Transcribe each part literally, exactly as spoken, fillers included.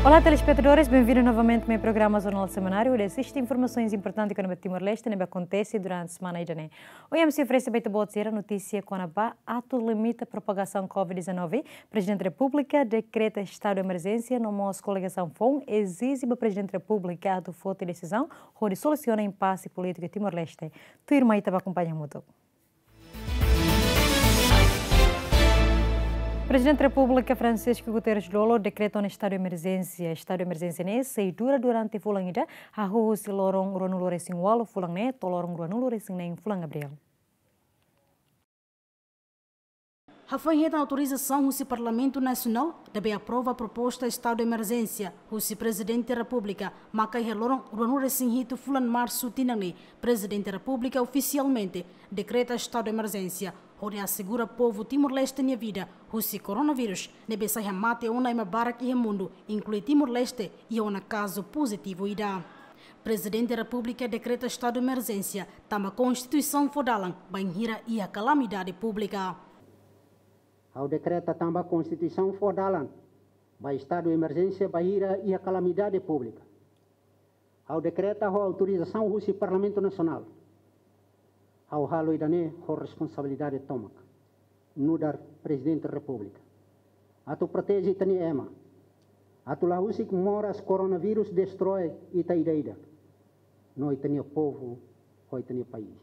Olá, telespetadores, bem-vindos novamente ao meu programa Jornal Semanário, onde assiste informações importantes kona-ba Timor-Leste ne'ebé akontese durante semana ida-ne'e. Ohin ami sei oferese ba ita-boot sira notísia kona-ba atu limita propagasaun covid dezanove, Prezidente Repúblika dekreta estadu de emerjénsia, no mós koligasaun foun ezije ba Prezidente Repúblika atu foti desizaun hodi solusiona impase polítiku Timor-Leste. Tuirmai ita bá akompaña hamutuk. Prezidente Repúblika Francisco Guterres Lú dekreta ona estadu de emerjénsia. Estadu de emerjénsia ne'e sei dura durante fulan ida, hahú husi loron ruanulu-resin-ualu fulan ne'e to'o loron ruanulu-resin-neen fulan Abríl. Hafoin hetan autorizasaun husi Parlamentu Nasionál, ne'ebé aprova proposta estadu de emerjénsia husi Prezidente Repúblika, maka iha loron ruanulu-resin-hitu fulan Marsu tinan ne'e, Prezidente Repúblika ofisialmente dekreta estadu de emerjénsia, hodi asegura povu Timor-Leste nia vida husi koronavírus, ne'ebé sai hamate ona ema barak iha mundu, inklui Timor-Leste, iha ona kazu pozitivu ida. Prezidente Repúblika dekreta estadu de emerjénsia, tanba Konstituisaun fó dalan bainhira iha kalamidade públika. Ha'u dekreta tanba Konstituisaun fó dalan ba estadu de emerjénsia bainhira iha kalamidade públika. Ha'u dekreta ho autorizasaun husi Parlamentu Nasionál. Ha'u halo ida-ne'e ho responsabilidade tomak, nu'udar Prezidente Repúblika, atu proteje ita-nia ema, atu la husik moras koronavírus destroi ita ida-idak, no ita-nia povu, ho ita-nia país.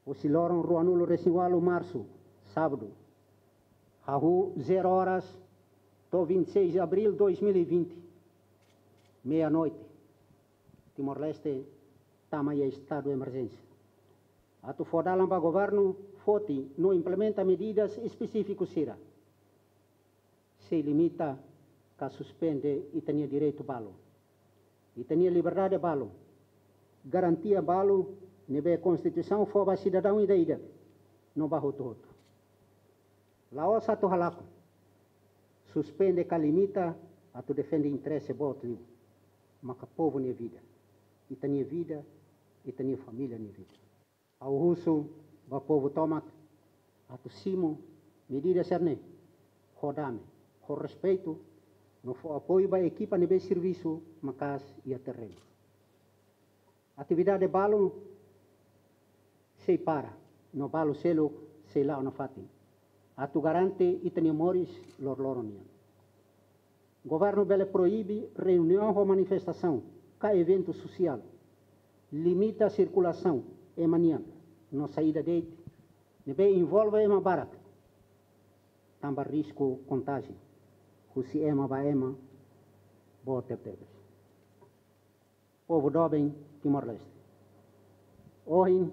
Husi loron ruanulu-resin-ualu Marsu, sábadu, hahú zero horas, to'o vinte e seis de abril dois mil e vinte, meia-noite, Timor-Leste tama iha estadu de emerjénsia, atu fó dalan ba governu foti no implementa medidas espesífiku sira. Sei limita ka suspende ita-nia direitu balu, ita-nia liberdade balu, garantia balu ne'ebé Konstituisaun fó ba sidadaun ida-idak no ba hotu-hotu. La'ós atu halakon, suspende ka limita atu defende interese boot liu, maka povu nia vida, ita-nia vida, ita-nia família nia vida. Ha'u husu ba povu tomak atu simu medida sira-ne'e ho dame, ho respeitu, no fó apoiu ba ekipa ne'ebé servisu maka'as iha terrenu. Atividade balu sei para, no balu seluk sei la'o nafatin, atu garante ita-nia moris loroloron nian. Governu bele proibe reuniaun ho manifestasaun ka eventu sosiál, limita sirkulasaun ema nian no saida de'it ne'ebé envolve ema barak, tanba risku kontájiu husi ema ba ema boot tebetebes. Povu doben Timor-Leste, ohin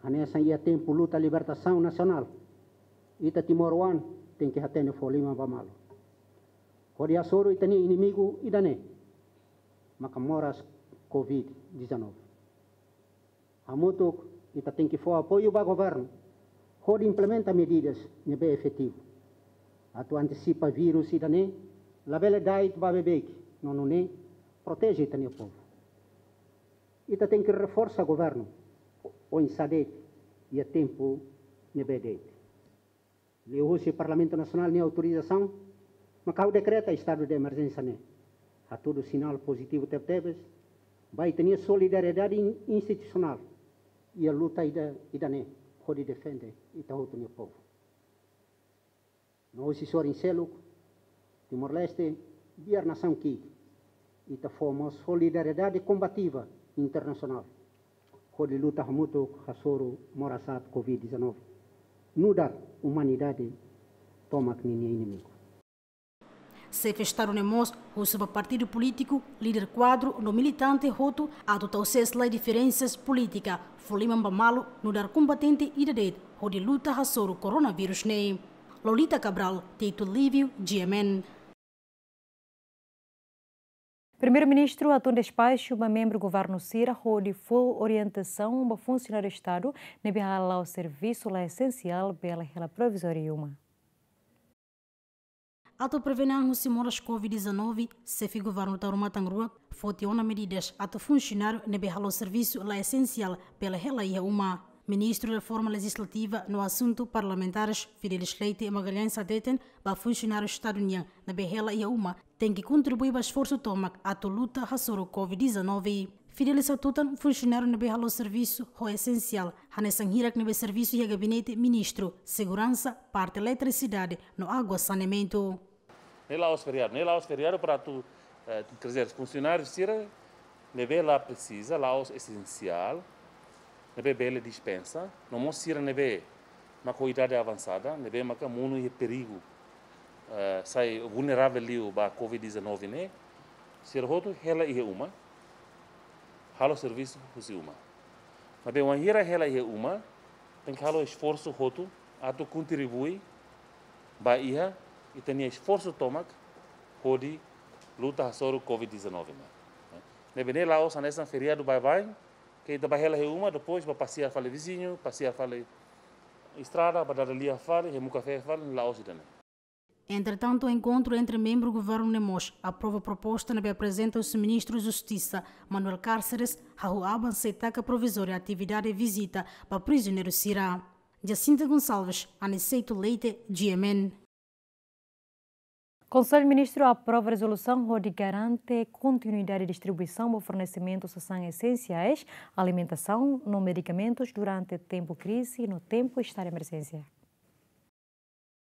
hanesan iha tempu luta libertasaun nasionál, ita timoroan tenke hatene fó liman ba malu, hodi hasoru ita-nia inimigu ida-ne'e, maka moras covid dezanove. Hamutuk ita tenke fó apoiu ba governu hodi implementa medidas ne'ebé efetivu, atu antisipa vírus ida-ne'e labele da'et ba beibeik, no nune'e proteje ita-nia povu. Ita tenke reforsa governu oinsá de'it, iha tempu ne'ebé de'it. Liuhusi Parlamentu Nasionál nia autorizasaun, maka ha'u dekreta estadu de emerjénsia ne'e, hatudu sinál pozitivu tebetebes ba ita-nia solidariedade in-, institusionál iha luta ida, ida-ne'e, hodi defende ita hotu nia povu. No husi sorin seluk, Timor-Leste biar nasaun ki'ik, ita fó mós solidariedade kombativa internasionál hodi luta hamutuk hasoru moras aat covid dezanove, nu'udar umanidade tomak ninia inimigu. Xefe Estadu ne'e mós husu ba partidu polítiku, líder kuadru no militante hotu atu tau sees lai diferensas polítika, fó liman ba malu nu'udar kombatente ida de'it hodi luta hasoru koronavírus ne'e. Lolita Cabral, Tito Lívio, G M N. Primeiru-Ministru hatún despaxu ba membru governu sira hodi fó orientasaun ba funsionáriu Estadu ne'ebé hala'o servisu la esensiál bele hela provizóriu iha uma. Atu prevene an husi moras covid dezanove, Xefe Governu Taur Matan Ruak foti ona medidas atu funsionáriu ne'ebé hala'o servisu la esensiál bele hela iha uma. Ministru Reforma Lejislativa no Asuntu Parlamentares, Fidelis Leite Magalhães, hateten ba funsionáriu Estadu nian ne'ebé hela iha uma tenke kontribui ba esforsu tomak atu luta hasoru Covid dezanove. Fidelis hatutan funsionáriu ne'ebé halo servisu ho esensiál, hanesan hirak ne'ebé servisu iha gabinete ministru, seguransa, parte eletrisidade no água saneamentu. Ne'e la'ós feriadu, ne'e la'ós feriadu para atu, eh, quer dizer, funsionáriu sira ne'ebé la presiza, la'ós esensiál, ne'ebé bele dispensa, no mós sira ne'ebé mak ho idade avansada, ne'ebé maka monu iha perigu, eh, sai vulneravel liu ba Covid dezanove ne'e, sira hotu hela iha uma, halo servisu husi uma. Maibé wainhira hela iha uma, tenke halo esforsu hotu atu kontribui ba iha ita-nia esforsu tomak hodi luta hasoru Covid dezanove ne'e. Ne'ebé ne'e la'ós hanesan feriadu baibain, ke ita bá hela iha uma, depois bá pasiar fali viziñu, pasiar fali estrada, bá dada lia fali, hemu kafé fali, la'ós ida-ne'e. Entretantu, enkontru entre membru governu ne'e mós aprova proposta ne'ebé aprezenta husi Ministru Justisa, Manuel Cárceres, hahú aban sei taka provizóriu atividade vizita ba prizioneiru sira. Jacinta Gonçalves, Aniceto Leite, G M N. Konsellu Ministru aprova rezolusaun hodi garante kontinuidade distribuisaun ba fornesimentu sasán esensiais, alimentasaun no medikamentus durante tempu krize no tempu estadu de emerjénsia.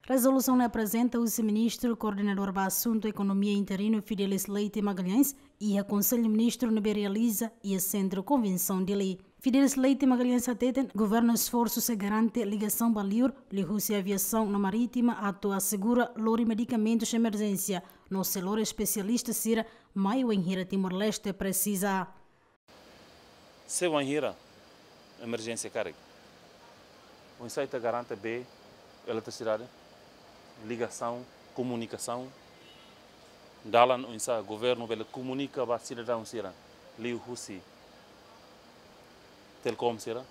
Rezolusaun ne'e aprezenta husi Ministru Koordenadór ba Asuntu Ekonomia interinu Fidelis Leite Magalhães iha Konsellu Ministru ne'ebé realiza iha Sentru Konvensaun Dili. Fidelis Leite Magalhães hateten, governu esforsu sei garante ligasaun ba liur, liuhusi aviasaun no marítima atu asegura lori medikamentus emerjénsia, no sei lori espesialista sira mai wainhira Timor-Leste presiza. Se wainhira emerjénsia karik, oinsá ita garante bee, eletrisidade, ligasaun, komunikasaun, dalan oinsá governu bele komunika ba sidadaun sira liuhusi Telkom sira,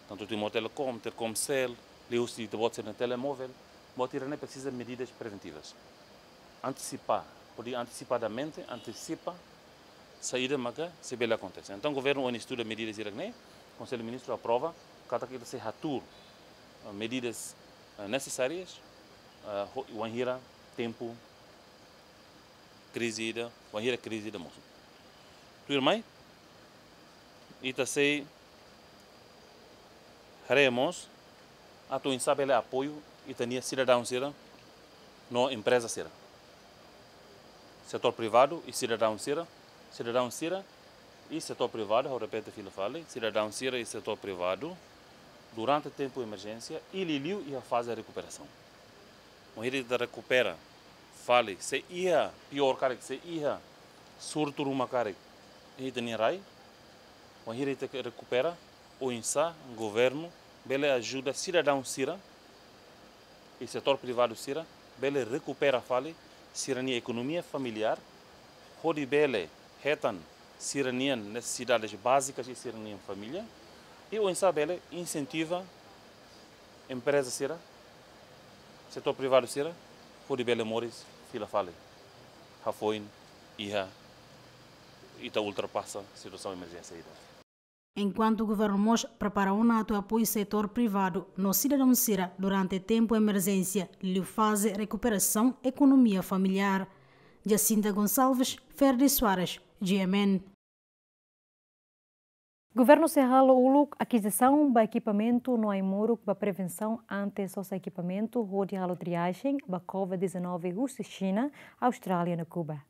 tantu Timor Telecom, Telkomcel, liuhusi ita-boot sira-nia telemóvel, buat sira-ne'e presiza medidas preventivas. Antesipa, hodi antesipadamente, antesipa saida maka sei bele akontese. Entaun, governu ohin estuda medidas sira-ne'e, Konsellu Ministru aprova, katak ita sei hatuur, eh, medidas, eh, nesesárias, eh, ho-, wainhira tempu krize ida, wainhira krize ida mosu. Tuirmai, ita sei haree mós atu oinsá bele apoiu ita-nia sidadaun sira no empreza sira. Setór privadu i sidadaun sira, sidadaun sira i setór privadu, ha'u repete fila fali, sidadaun sira i setór privadu, durante tempu emerjénsia i liuliu iha faze rekuperasaun. Wainhira ita rekupera fali, se iha piór karik, se iha surtu ruma karik iha ita-nia rai, wainhira ita ke rekupera, oinsá governu bele ajuda sidadaun sira i setór privadu sira bele rekupera fali sira-nia ekonomia familiár, hodi bele hetan sira-nia nesesidades bázikas i sira-nia família, i oinsá bele insentiva empreza sira, setór privadu sira, hodi bele moris fila fali, hafoin iha ita ultrapasa situasaun emerjénsia ida. Enkuantu governu mós prepara ona atu apoiu setór privadu no sidadaun sira durante tempu emerjénsia, liu faze rekuperasaun ekonomia familiár. Jacinta Gonçalves, Ferdi Soares, G M N. Governu sei halo uluk akizisaun ba ekipamentu no ai-moruk ba prevensaun ante sosa ekipamentu hodi halo triajen ba Covid dezanove husi Xina, Austrália no Kuba.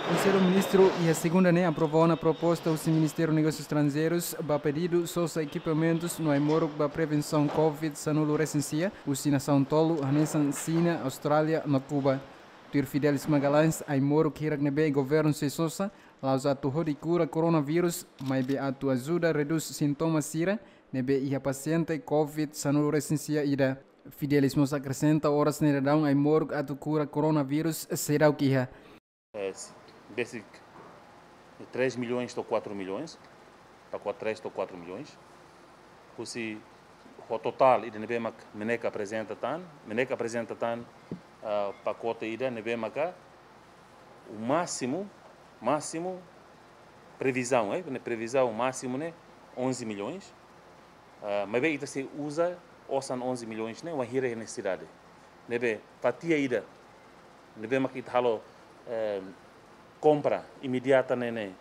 Konsellu Ministru iha segunda ne'e aprova ona proposta husi Ministériu Negósius Estranjeirus ba pedidu sosa ekipamentus no ai-moruk ba prevensaun Covid sanulu resin sia husi nasaun tolu hanesan Xina, Austrália no Kuba. Tuir Fidelis Magalhães, ai-moruk hirak ne'ebé governu sei sosa la'ós atu hodi kura koronavírus, maibé atu ajuda redús sintoma sira ne'ebé iha pasiente Covid sanulu resin sia ida. Fidelis mós akresenta oras ne'e daudaun ai-moruk atu kura koronavírus seidauk iha. Eh, basic, três milhões to'o quatro milhões, para qua-, três to'o quatro milhões. Husi ho totál ida ne'ebé mak MNEK aprezenta tan, MNEK aprezenta tan, ah, pakote ida ne'ebé maka o másimu, másimu previzaun, eh, ne'e previzaun másimu ne'e onze milhões. Ah, maibé ita sei uza osan onze milhões ne'e wainhira iha nesesidade. Ne'ebé fatia ida ne'ebé mak ita halo, eh, kompra imediata ne'e ne'e,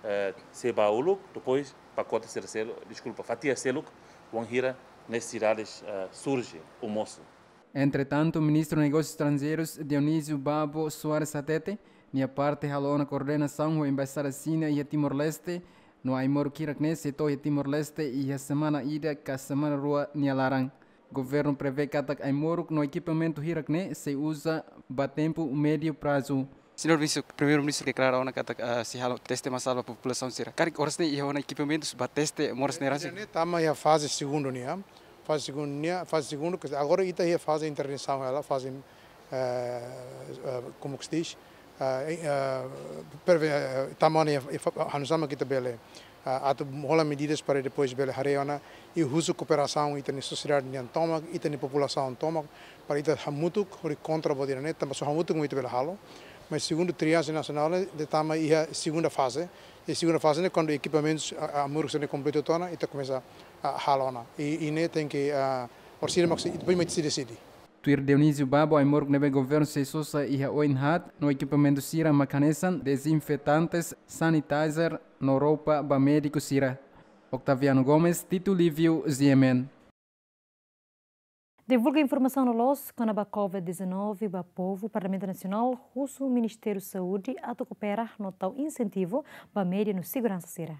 eh, sei ba uluk, depois pakote sira seluk, deskulpa, fatia seluk, wainhira nesesidades, eh, surje, ou mosu. Entretantu, Ministru Negósius Estranjeirus Dionísio Babo Soares hatete, nia parte halo ona koordenasaun ho Embaixada Xina iha Timor-Leste, no ai-moruk hirak-ne'e sei to'o iha Timor-Leste iha semana ida ka semana rua nia laran. Governu prevee katak ai-moruk no ekipamentu hirak-ne'e sei uza ba tempu médiu prazu. Señór Ministru, Primeiru-Ministru deklara ona katak, ah, sei halo teste masál ba populasaun sira. Karik oras ne'e iha ona ekipamentus ba teste moras ne'e rasik? Ne'e tama iha faze segundu nian. Faze segundu nian, faze segundu, ke agora ita iha faze intervensaun hela, faze, eh, eh, como que se diz? Eh, eh, preve-, eh, tama ona iha, iha fa-, hanu sá mak ita bele, ah, atu hola medidas para depois bele haree ona, i husu kooperasaun ita-nia sosiedade nian tomak, ita-nia populasaun tomak, para ita hamutuk hodi kontra buat ida-ne'e, tanba só hamutuk mak ita bele halo. Mas segundu triaje nasionál ne'e tama iha segunda faze. I segunda faze ne'e kuandu ekipamentus, ah, ah, ai-moruk sira-ne'e kompletu tiha ona, ita komesa, ah, halo ona. I, i ne'e tenke, ah, orsida mak sei, depois mak sei deside. Tuir Dionísio Babo, ai-moruk ne'ebé governu sei sosa iha oin haat no ekipamentu sira mak hanesan dezinfetantes, sanitizer no roupa ba médiku sira. Octaviano Gomes, Tito Lívio, G M N. Divulga informasaun loloos kona-ba covid dezanove ba povu. Parlamentu Nasionál husu Ministériu Saúde atu koopera no tau insentivu ba média no seguransa sira.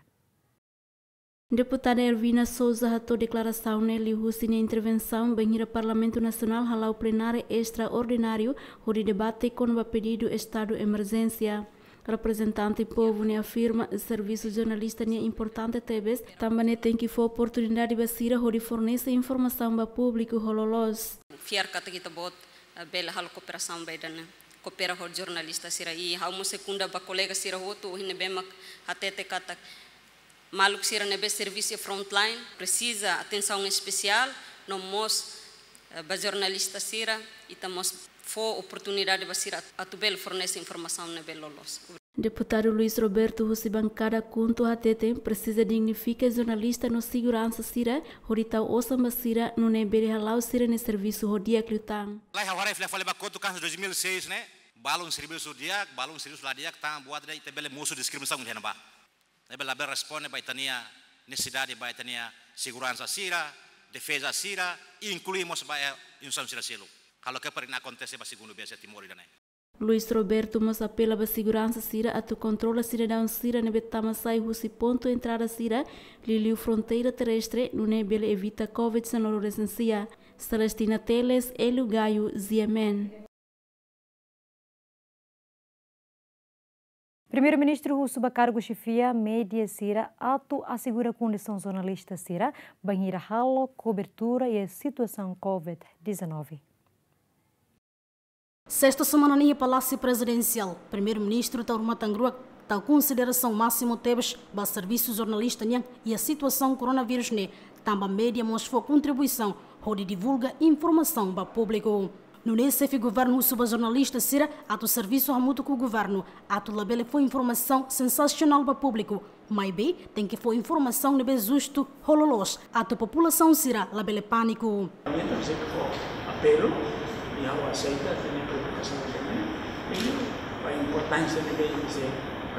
Deputada Ervina Sousa hato'o deklarasaun ne'e liuhusi nia intervensaun bainhira Parlamentu Nasionál hala'o plenária estraordináriu hodi debate kona-ba pedidu estadu emerjénsia. Reprezentante povu ne'e afirma servisu jornalista ne'e importante tebes, tanba ne'e tenke fó oportunidade ba sira hodi fornese informasaun ba públiku ho loloos. Fiar katak ita-boot, eh, bele halo kooperasaun ba ida-ne'e. Koopera ho jornalista sira, i ha'u mós sekunda ba kolega sira hotu, ohin ne'ebé mak hatete katak maluk sira ne'ebé servisu iha frontline presiza atensaun espesiál, no mós, eh, ba jornalista sira, ita mós fó oportunidade ba sira atu bele fornese informasaun ne'ebé loloos. Deputadu Luis Roberto husi bankada KHUNTO hatete, presiza dignifika jornalista no seguransa sira, hodi tau osan ba sira, nune'e bele hala'o sira-nia servisu ho di'ak liután. Lai ha'u haree fila fali ba kotuk hanesan dois mil e seis ne'e, balun servisu di'ak, balun servisu la di'ak, tan buat ida ita bele mosu diskriminasaun iha ne'ebá. Ne'ebé labele responde ba ita-nia nesesidade, ba ita-nia seguransa sira, defeza sira, inklui mós ba, eh, instituisaun sira seluk. Halo ke para ne'e akontese ba segundu vez iha Timor ida-ne'e. Luis Roberto mós apela ba seguransa sira atu kontrola sidadaun sira ne'ebé tama sai husi pontu entrada sira, liuliu fronteira terrestre, nune'e bele evita covid dezanove resensia. Celestina Teles, Hélio Gaio, G M N. Primeiru-Ministru husu ba kargu xefia média sira atu asegura kondisaun jornalista sira bainhira halo kobertura iha situasaun covid dezanove. Sesta semana ne'e iha Palásiu Prezidensiál, Primeiru-Ministru Taur Matan Ruak tau konsiderasaun másimu tebes ba servisu jornalista nian iha situasaun koronavírus ne'e, tanba média mós fó kontribuisaun hodi divulga informasaun ba públiku. Nune'e xefe governu husu ba jornalista sira atu servisu hamutuk ho governu, atu labele fó informasaun sensasionál ba públiku, maibé tenke fó informasaun ne'ebé justu ho loloos, atu populasaun sira labele pániku. Entaun, se for apelu, i ha'u aseita, tenke preokupasaun também, i ba importánsia ne'ebé sei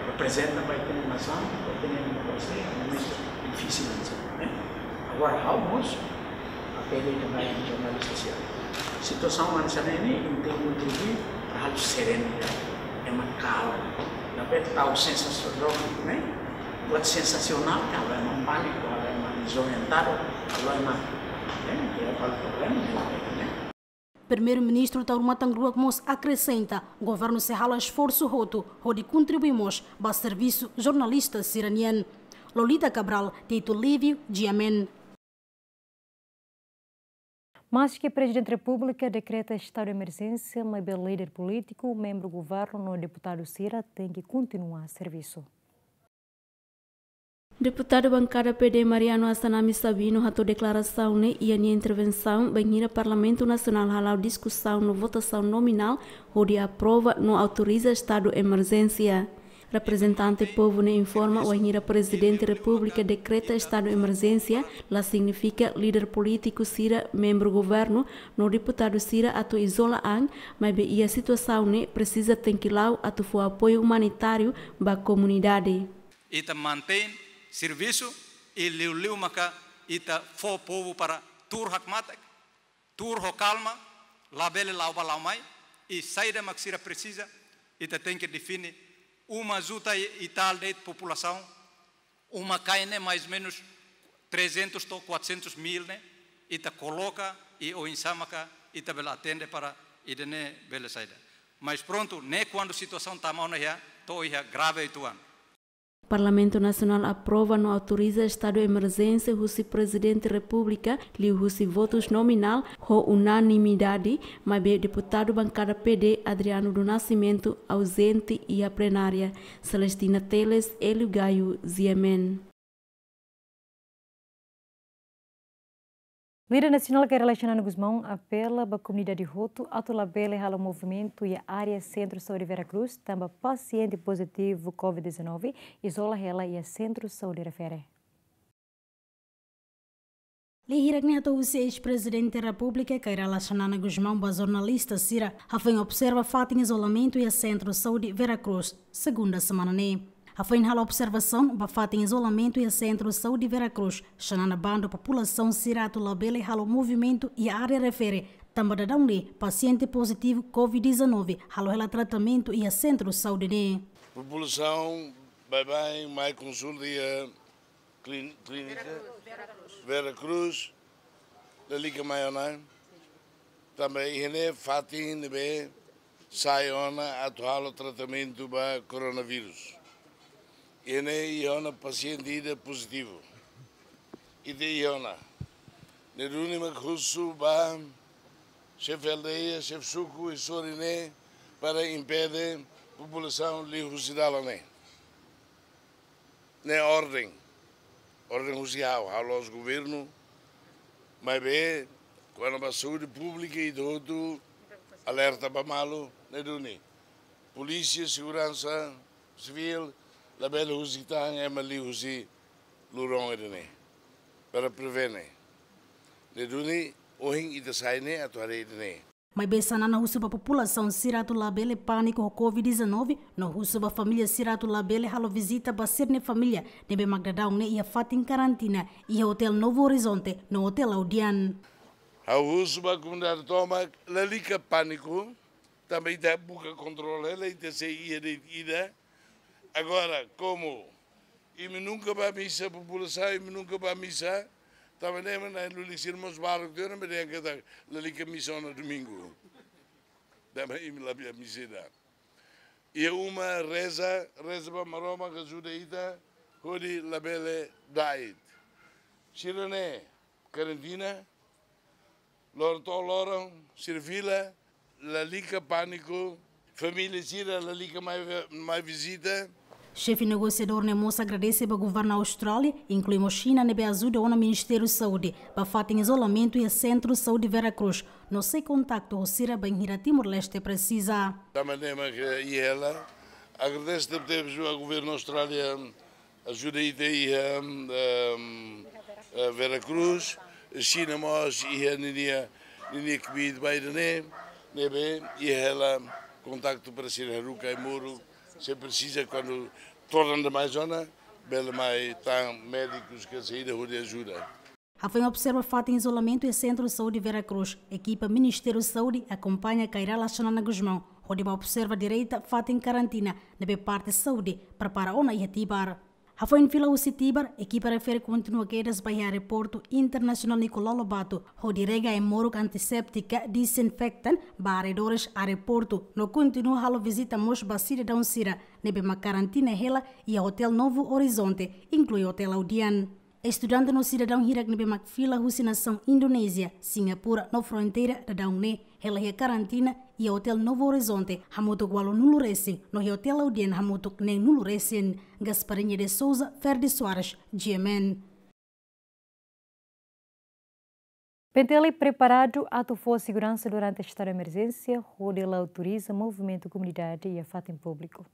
reprezenta ba ita-nia nasaun, ba ita-nia demokrasia, momentu difisil hanesan ne'e. Agora, ha'u mós apela ita-nia jornalista sira. Situasaun hanesan ne'e, ita kontribui para halo serenu, ema kalma. Labele tau sensasionál, ne'e? Buat sensasionál, halo ema pániku, halo ema dezorientadu, halo ema, ne'e? Iha halo problema, ne'e? Primeiru-Ministru Taur Matan Ruak mós akresenta, governu sei halo esforsu hotu, hodi kontribui mós ba servisu jornalista sira-nian. Lolita Cabral, Tito Lívio, G M N. Maske Prezidente Repúblika dekreta estadu de emerjénsia, maibé líder polítiku, membru governu no deputadu sira tenke kontinua servisu. Deputadu bankada P D Mariano Assanami Sabino hato'o deklarasaun ne'e iha nia intervensaun bainhira Parlamentu Nasionál hala'o diskusaun no votasaun nominál hodi aprova no autoriza estadu emerjénsia. Reprezentante povu ne'e informa, wainhira Prezidente Repúblika dekreta estadu emerjénsia, la signifika líder polítiku sira, membru governu no deputadu sira atu izola an, maibé iha situasaun ne'e presiza tenke la'o atu fó apoiu umanitáriu ba komunidade. Ita mantein servisu i liuliu maka ita fó povu para tuur hakmatek, tuur ho kalma, labele la'o bá la'o mai, i saida mak sira presiza, ita tenke define. Uma juta i, i tal de'it populasaun, uma-kain ne'e mais menus trezentos to'o quatrocentos mil ne'e, ita koloka i oinsá maka ita bele atende para ida-ne'e bele saida. Mas prontu, ne'e kuandu situasaun tama ona iha, to'o iha grave uitoan. Parlamentu Nasionál aprova no autoriza estadu emerjénsia husi Prezidente Repúblika, liuhusi votus nominál ho unanimidade, maibé deputadu bankada P D, Adriano do Nascimento, auzente iha plenária. Celestina Teles, Hélio Gaio, G M N. Líder nasionál Kay Rala Xanana Gusmão apela ba komunidade hotu atu labele halo movimentu iha área Sentru Saúde Vera Cruz, tanba pasiente pozitivu covid dezanove izola hela iha Sentru Saúde refere. Lei hirak ne'e hato'o husi eis-Prezidente Repúblika Kay Rala Xanana Gusmão ba jornalista sira, hafoin observa fatin izolamentu iha Sentru Saúde Vera Cruz, segunda semana ne'e. Hafoin halo observasaun ba fatin izolamentu iha Sentru Saúde Vera Cruz, Xanana bandu populasaun sira atu labele halo movimentu iha área refere, tanba daudaun ne'e pasiente pozitivu covid dezanove halo hela tratamentu iha Sentru Saúde ne'e. Populasaun baibain mai konsulta iha klin-, klínika Vera Cruz, lalika mai ona. Tanba iha ne'e fatin ne'ebé sai ona atu halo tratamentu ba koronavírus. Iha ne'e iha ona pasiente ida pozitivu. Ita iha ona. Ne'e duni mak husu ba xefe aldeia, xefe suku i sorin ne'e para impede populasaun liu husi dalan ne'e. Ne'e orden. Orden husi ha'u, ha'u la'ós governu. Maibé, kona-ba saúde públika ita hotu alerta ba malu, ne'e duni. Polísia, seguransa sivíl, labele husik tan ema liu husi loron ida-ne'e. Para prevene. Ne'e duni, ohin ita sai ne'e atu haree ida-ne'e. Maibé Xanana husu ba populasaun sira atu labele pániku ho covid dezanove, no husu ba família sira atu labele halo vizita ba sira-nia família ne'ebé mak daudaun ne'e iha fatin karantina iha Hotel Novo Horizonte no Hotel Laudian. Ha'u husu ba komunidade tomak lalika pániku, tanba ita buka kontrola hela, ita sei iha de'it ida. Agora, komu imi nunka bá misa, populasaun, imi nunka bá misa, tanba ne'e mak na'in-lulik sira mós barak tiha ona, maibé dehan katak lalika misa ona domingu. Tanba imi la bá misa ida. Iha uma reza, reza ba Maromak ajuda ita, hodi labele da'et. Sira ne'e karantina, loron to'o loron, sira fila, lalika pániku, família sira lalika mai, mai vizita. Xefe negosiadór ne'e mós agradese ba governu Austrália, inklui mós Xina ne'ebé ajuda ona Ministériu Saúde, ba fatin izolamentu iha Sentru Saúde Vera Cruz, no sei kontaktu ho sira bainhira Timor-Leste presiza. Tanba ne'e mak iha hela, agradese tebetebes ba governu Austrália, ajuda ita iha, ehm, eh, Vera Cruz, Xina mós iha ninia, ninia kbiit ba ida-ne'e, ne'ebé iha hela kontaktu para sira haruka ai-moruk, se presiza kuandu todan demais ona, bele mai tan médikus ka saida hodi ajuda. Hafoin observa fatin izolamentu iha Sentru Saúde Vera Cruz, ekipa Ministériu Saúde akompaña Kay Rala Xanana Gusmão, hodi bá observa direta fatin karantina ne'ebé parte saúde prepara ona iha Tibar. Hafoin fila husi Tibar, ekipa refere kontinua kedas ba iha Aeroportu Internasionál Nicolau Lobato, hodi rega ai-moruk antiséptika, disinfektan ba arredores aeroportu, no kontinua halo vizita mós ba sidadaun sira ne'ebé mak karantina hela iha Hotel Novo Horizonte, inklui Hotel Laudian. Estudante no sidadaun hirak ne'ebé mak fila husi nasaun Indonézia, Singapura no fronteira daudaun ne'e hela iha karantina iha Hotel Novo Horizonte hamutuk ualunulu resin, no iha Hotel Laudian hamutuk neenulu resin. Gasparinha de Souza, Ferdi Soares, G M N. P N T L preparadu atu fó seguransa durante estadu de emerjénsia, hodi la autoriza movimentu komunidade iha fatin públiku.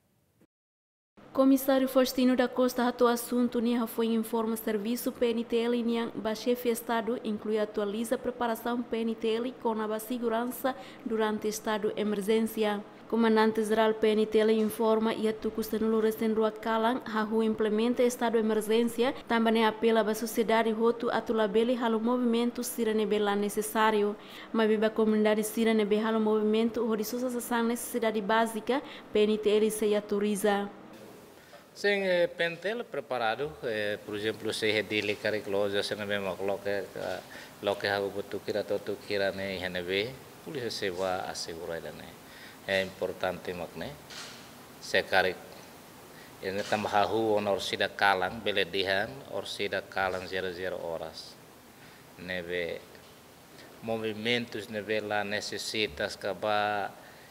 Komisáriu Faustino da Costa hato'o asuntu ne'e hafoin informa servisu P N T L nian ba Xefe Estadu, inklui atualiza preparasaun P N T L kona-ba seguransa durante estadu emerjénsia. Komandante Jerál P N T L informa iha tuku sanulu-resin-rua kalan hahú implementa estadu emerjénsia, tanba ne'e apela ba sosiedade hotu atu labele halo movimentu sira ne'ebé la nesesáriu. Maibé ba komunidade sira ne'ebé halo movimentu hodi sosa sasán nesesidade bázika, P N T L sei autoriza. Sin, eh, P N T L preparadu, eh, por ezemplu, se iha Dili karik loja sira ne'ebé mak loke, eh, loke hahú buat tuku hira, to'o tuku hira ne'e iha ne'ebé, polísia sei bá asegura ida-ne'e. Eh, importante mak ne'e, se karik, eh, ne'e tanba hahú ona orsida kalan, bele dehan orsida kalan zero zero oras. Ne'ebé movimentus ne'ebé la nesesita, ka bá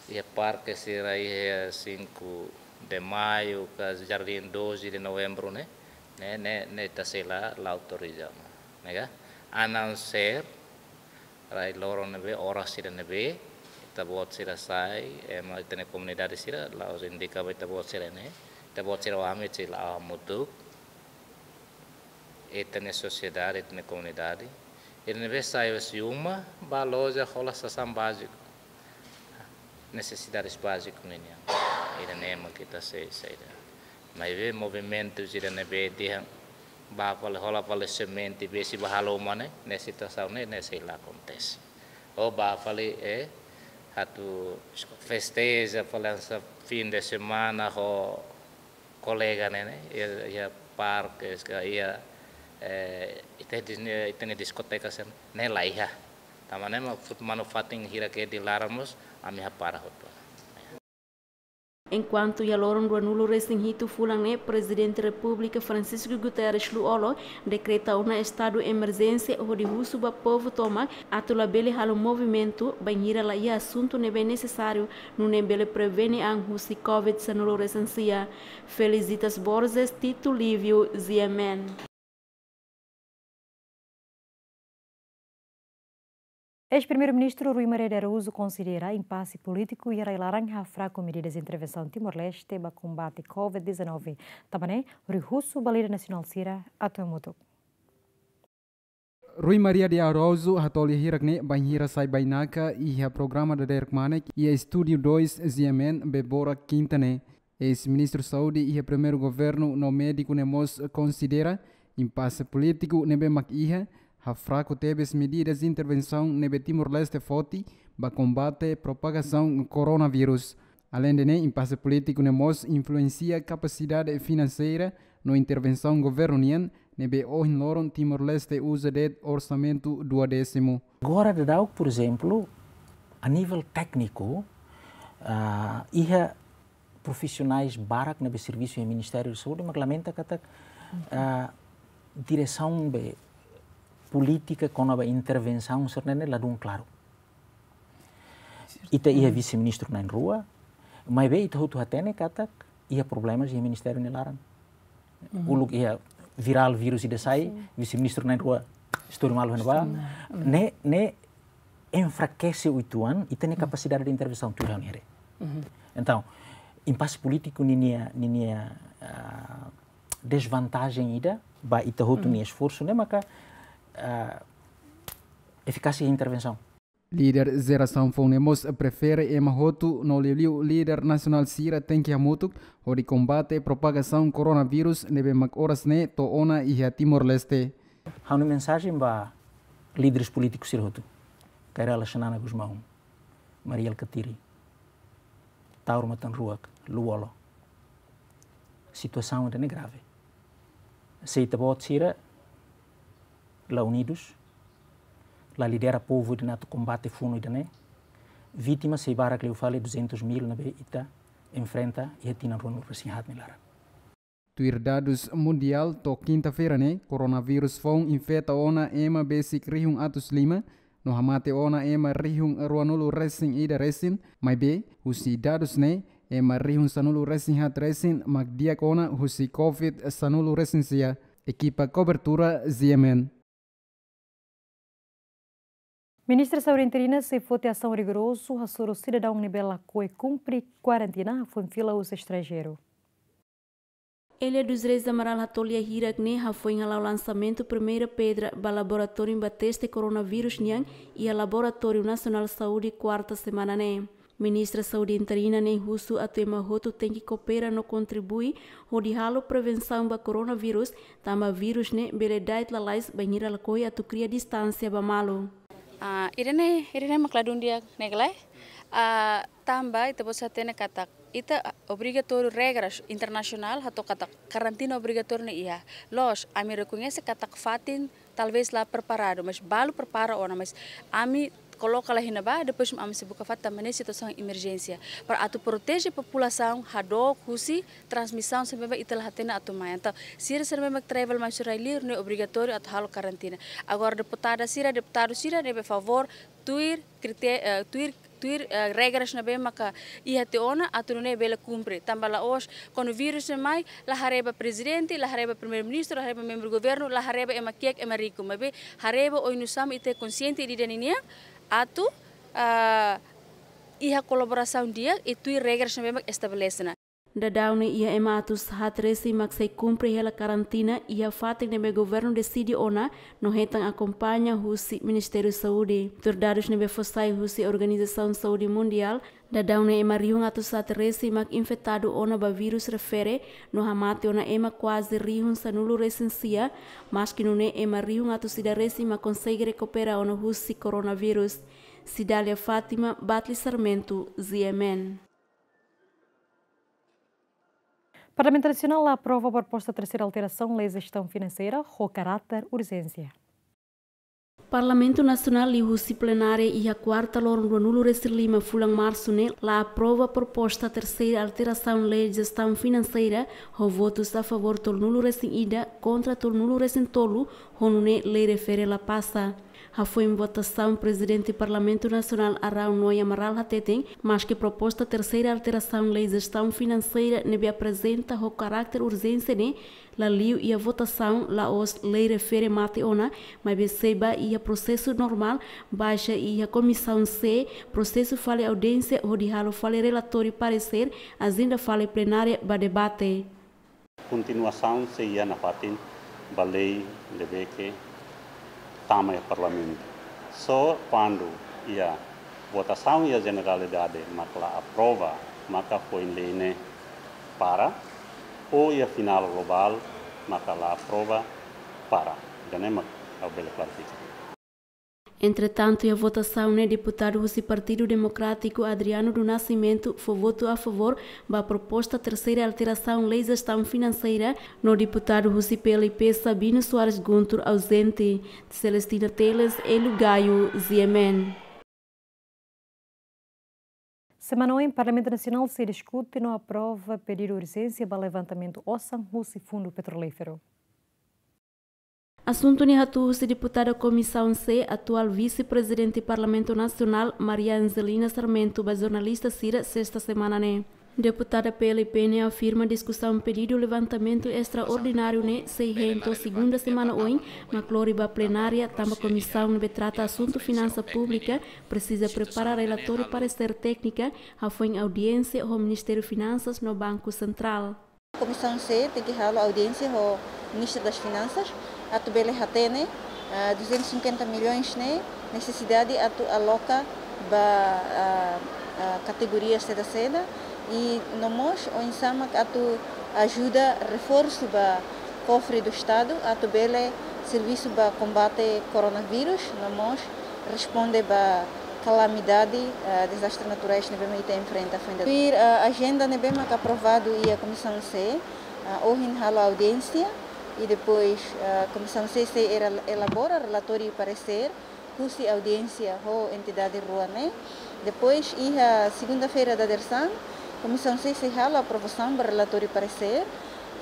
iha parke sira iha cinco de Maio, ka Jardim doze de Novembro ne'e, ne'e, ne'e, ne'e ita sei la, la autoriza ona, ne'e ka? A não ser, rai loron ne'ebé, oras sira ne'ebé, ita-boot sira sai, ema ita-nia komunidade sira, la'ós indika ba ita-boot sira ne'e, ita-boot sira, ami sei la'o hamutuk, ita-nia sosiedade, ita-nia komunidade. Ida ne'ebé sai husi uma, bá loja hola sasán báziku. Nesesidades báziku ninian. Ida-ne'e mak ita sei, sei ida. Maibé movimentu ida ne'ebé dehan bá fali hola fali semente, besik bá halo uma ne'e, ne'e situasaun ne'e, ne'e sei la akontese. Ou bá fali, eh, atu festeja fali hanesan fim de semana ho kolega ne'e, ne'e, iha, iha parkes ka iha, eh, ita dis-, ita-nia diskoteka sira ne'e la iha. Tanba ne'e mak fut manu-fatin hirak iha di laran mós ami hapara hotu. Enkuantu iha loron ruanulu-resin-hitu fulan ne'e, Prezidente Repúblika Francisco Guterres Lú-Olo dekreta ona estadu emerjénsia hodi husu ba povu tomak atu labele halo movimentu bainhira la iha asuntu ne'ebé nesesáriu, nune'e bele prevene an husi Covid sanulu-resin-sia. Felicitas Borges, Tito Livio, G M N. Eis-Primeiru-Ministru Rui Maria de Araújo konsidera impase polítiku iha rai-laran hafraku medidas intervensaun Timor-Leste ba kombate Covid dezanove. Tanba ne'e, Rui husu ba líder nasionál sira atu hamutuk. Rui Maria de Araújo hato'o lia hirak ne'e bainhira sai bainaka iha programa Dadeer Kmanek iha Estúdiu dois G M N Bebora Kinta ne'e. Eis-Ministru Saúde iha Primeiru Governu no médiku ne'e mós konsidera impase polítiku ne'ebé mak iha, hafraku tebes medidas intervensaun ne'ebé Timor-Leste foti ba kombate propagasaun koronavírus. Aleinde ne'e, impase polítiku ne'e mós influensia kapasidade finanseira no intervensaun governu nian ne'ebé ohin loron Timor-Leste uza de'it orsamentu duodésimu. Agora daudaun, por ezemplu, a nível tékniku, ah, iha profisionais barak ne'ebé servisu iha Ministériu Saúde, mak lamenta katak, ah, diresaun be polítika kona-ba intervensaun sira-ne'e ladún klaru. Ita iha vise-ministru na'in-rua, maibé ita hotu hatene katak iha problemas iha ministériu nia laran. Uluk iha virál vírus ida sai, vise-ministru na'in-rua istori malu iha ne'ebá. Ne'e, ne'e enfrakese uitoan ita-nia kapasidade de intervensaun tuir ha'u-nia haree. Entaun, impase polítiku ninia, ninia, ah, dezvantajen ida ba ita hotu nia esforsu ne'e maka, ah, efikásia intervensaun. Líder jerasaun foun ne'e mós prefere ema hotu no liuliu líder nasionál sira tenke hamutuk hodi kombate propagasaun koronavírus ne'ebé mak oras ne'e to'o ona iha Timor-Leste. Ha'u-nia mensajen ba líderes polítiku sira hotu, Kay Rala Xanana Gusmão, Mari Alkatiri, Taur Matan Ruak, Lú-Olo. Situasaun ida-ne'e grave. Se ita-boot sira la unidus, la lidera povu ida-ne'e atu kombate funu ida-ne'e, vítima sei barak liu fali duzentus mil ne'ebé ita enfrenta iha tinan ruanulu-resin-haat nia laran. Tuir dadus mundiál, to'o kinta-feira ne'e, koronavírus foun infeta ona ema besik rihun atus lima, no hamate ona ema rihun ruanulu-resin-ida resin, maibé, husi dadus ne'e, ema rihun sanulu-resin-haat resin mak di'ak ona husi Covid sanulu-resin-sia. Ekipa kobertura G M N. Ministra Saúde interina sei foti asaun rigorozu hasoru sidadaun ne'ebé lakohi kumpre kuarentina hafoin fila husi estranjeiru. Elia dos Reis Amaral hato'o lia hirak ne'e hafoin hala'o lansamentu primeira pedra ba laboratóriu ba teste koronavírus nian iha Laboratóriu Nasionál Saúde kuarta semana ne'e. Ministra Saúde interina ne'e husu atu ema hotu tenke koopera no kontribui hodi halo prevensaun ba koronavírus, tanba vírus ne'e bele da'et lalais bainhira lakohi atu kria distánsia ba malu. Ah, ida-ne'e, ida-ne'e mak ladún di'ak ne'e ka lae. Ah, tanba ita-boot sei hatene katak ita, ah, obrigatóriu regras internasionál hato'o katak karantina obrigatóriu ne'e iha. Loos, ami rekoñese katak fatin talvés la preparadu, mas balu prepara ona, mas ami koloka lai iha ne'ebá, depois ami sei buka fatin tanba ne'e situasaun emerjénsia. Para atu proteje populasaun hadook husi transmisaun se memang ita la hatene atu mai. Entaun, sira se memang travel mai husi rai-liur ne'e obrigatóriu atu halo karantina. Agora deputada sira, deputadu sira ne'ebé favór tuir krité-, eh, tuir, tuir, eh, regras ne'ebé maka iha tiha ona atu nune'e bele kumpre. Tanba la'ós, kuandu vírus ne'e mai, la haree ba prezidente, la haree ba primeiru-ministru, la haree ba membru governu, la haree ba ema kiak, ema riku. Maibé haree ba oinsá mak ita konsiente ida-idak ninian, atu, ah, iha kolaborasaun di'ak, i tuir regras ne'ebé mak estabelese ona. Daudaun ne'e iha ema atus haat resin mak sei kumpre hela karantina iha fatin ne'ebé governu deside ona no hetan akompaña husi Ministériu Saúde. Tuir dadus ne'ebé fó sai husi Organizasaun Saúde Mundiál, daudaun ne'e ema rihun atus haat resin mak infetadu ona ba vírus refere no hamate ona ema kuaze rihun sanulu resin sia, maski nune'e ema rihun atus ida resin mak konsege rekupera ona husi koronavírus. Cidália Fátima, Batli Sarmento, Z M N. Parlamentu Nasionál aprova proposta terseira alterasaun Lei Jestaun Finanseira ho karáter urjénsia. Parlamentu Nasionál liuhusi plenária iha kuarta loron ruanulu resin lima fulan Marsu ne'e la aprova proposta terseira alterasaun Lei Jestaun Finanseira ho votus a favór tolunulu resin ida, kontra tolunulu resin tolu, ho nune'e lei refere la pasa. Hafoin votasaun, Prezidente Parlamentu Nasionál Araun Noy Amaral hateten, maski proposta terseira alterasaun Lei Jestaun Finanseira ne'ebé aprezenta ho karáter urjénsia ne'e la liu iha votasaun, la'ós lei refere mate ona, maibé sei ba iha prosesu normál, baixa iha Komisaun C, prosesu fali audiénsia hodi halo fali relatóriu paresér, ajenda fali plenária ba debate. Kontinuasaun sei iha nafatin ba lei ne'ebé ke tama iha Parlamentu. Só kuandu iha votasaun iha jeneralidade mak la aprova, maka foin lei ne'e para, ou iha finál globál maka la aprova, para. Ida-ne'e mak ha'u bele klarifika. Entretantu, iha votasaun ne'e deputadu husi Partidu Demokrátiku Adriano do Nascimento fó votu a favór ba proposta terseira alterasaun Lei Jestaun Finanseira, no deputadu husi P L P Sabino Soares Guntur auzente. Celestina Teles, Hélio Gaio, Z M N. Semana oin, Parlamentu Nasionál sei diskute no aprova pedidu urjénsia ba levantamentu osan husi Fundu Petrolíferu. Asuntu ne'e hato'o husi deputada Komisaun C, atuál Vise-Prezidente Parlamentu Nasionál, Maria Angelina Sarmento, ba jornalista sira, sesta semana ne'e. Deputada P L P ne'e afirma diskusaun pedidu levantamentu estraordináriu ne'e sei hein to'o segunda semana oin, mak lori ba plenária, tanba komisaun ne'ebé trata asuntu finansa públika presiza prepara relatóriu paresér téknika, hafoin audiénsia ho Ministériu Finansas no Banku Sentrál. Komisaun C tenke halo audiénsia ho Ministru das Finansas, atu bele hatene, ah, duzentos e cinquenta milhões ne'e nesesidade atu aloka ba, ah, ah, kategoria seda-seda, i no mós oinsá mak atu ajuda reforsu ba kofre do Estadu, atu bele servisu ba kombate koronavírus, no mós responde ba kalamidade, eh, dezastre naturais ne'ebé mak ita enfrenta foin dadauk. Tuir, eh, ajenda ne'ebé mak aprovadu iha Komisaun C, eh, ohin halo audiénsia, i depois, eh, Komisaun C sei era-, elabora relatóriu paresér husi audiénsia ho entidade rua ne'e. Depois, iha segunda-feira dadeersan, Komisaun C sei halo aprovasaun ba relatóriu paresér,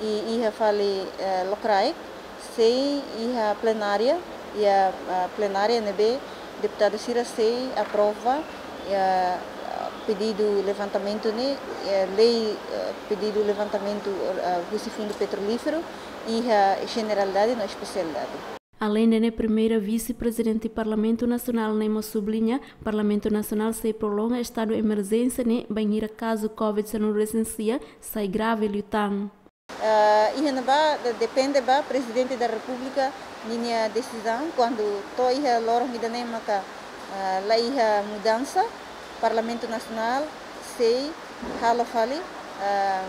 i iha fali, eh, lokraik, sei iha plenária, iha, ah, plenária ne'ebé deputadu sira sei aprova, iha, ah, pedidu levantamentu ne'e, iha lei, ah, pedidu levantamentu, ah, husi Fundu Petrolíferu, iha jeneralidade no espesialidade. Aleinde ne'e, Primeira Vise-Prezidente Parlamentu Nasionál ne'e mós subliña, Parlamentu Nasionál sei prolonga estadu emerjénsia ne'e bainhira kazu covid sanulu resin sia sai grave liután. Ah, iha ne'ebá de-, depende ba Prezidente da Repúblika ninia desizaun, kuandu to'o iha loron ida-ne'e maka, ah, la iha mudansa, Parlamentu Nasionál sei halo fali, ah,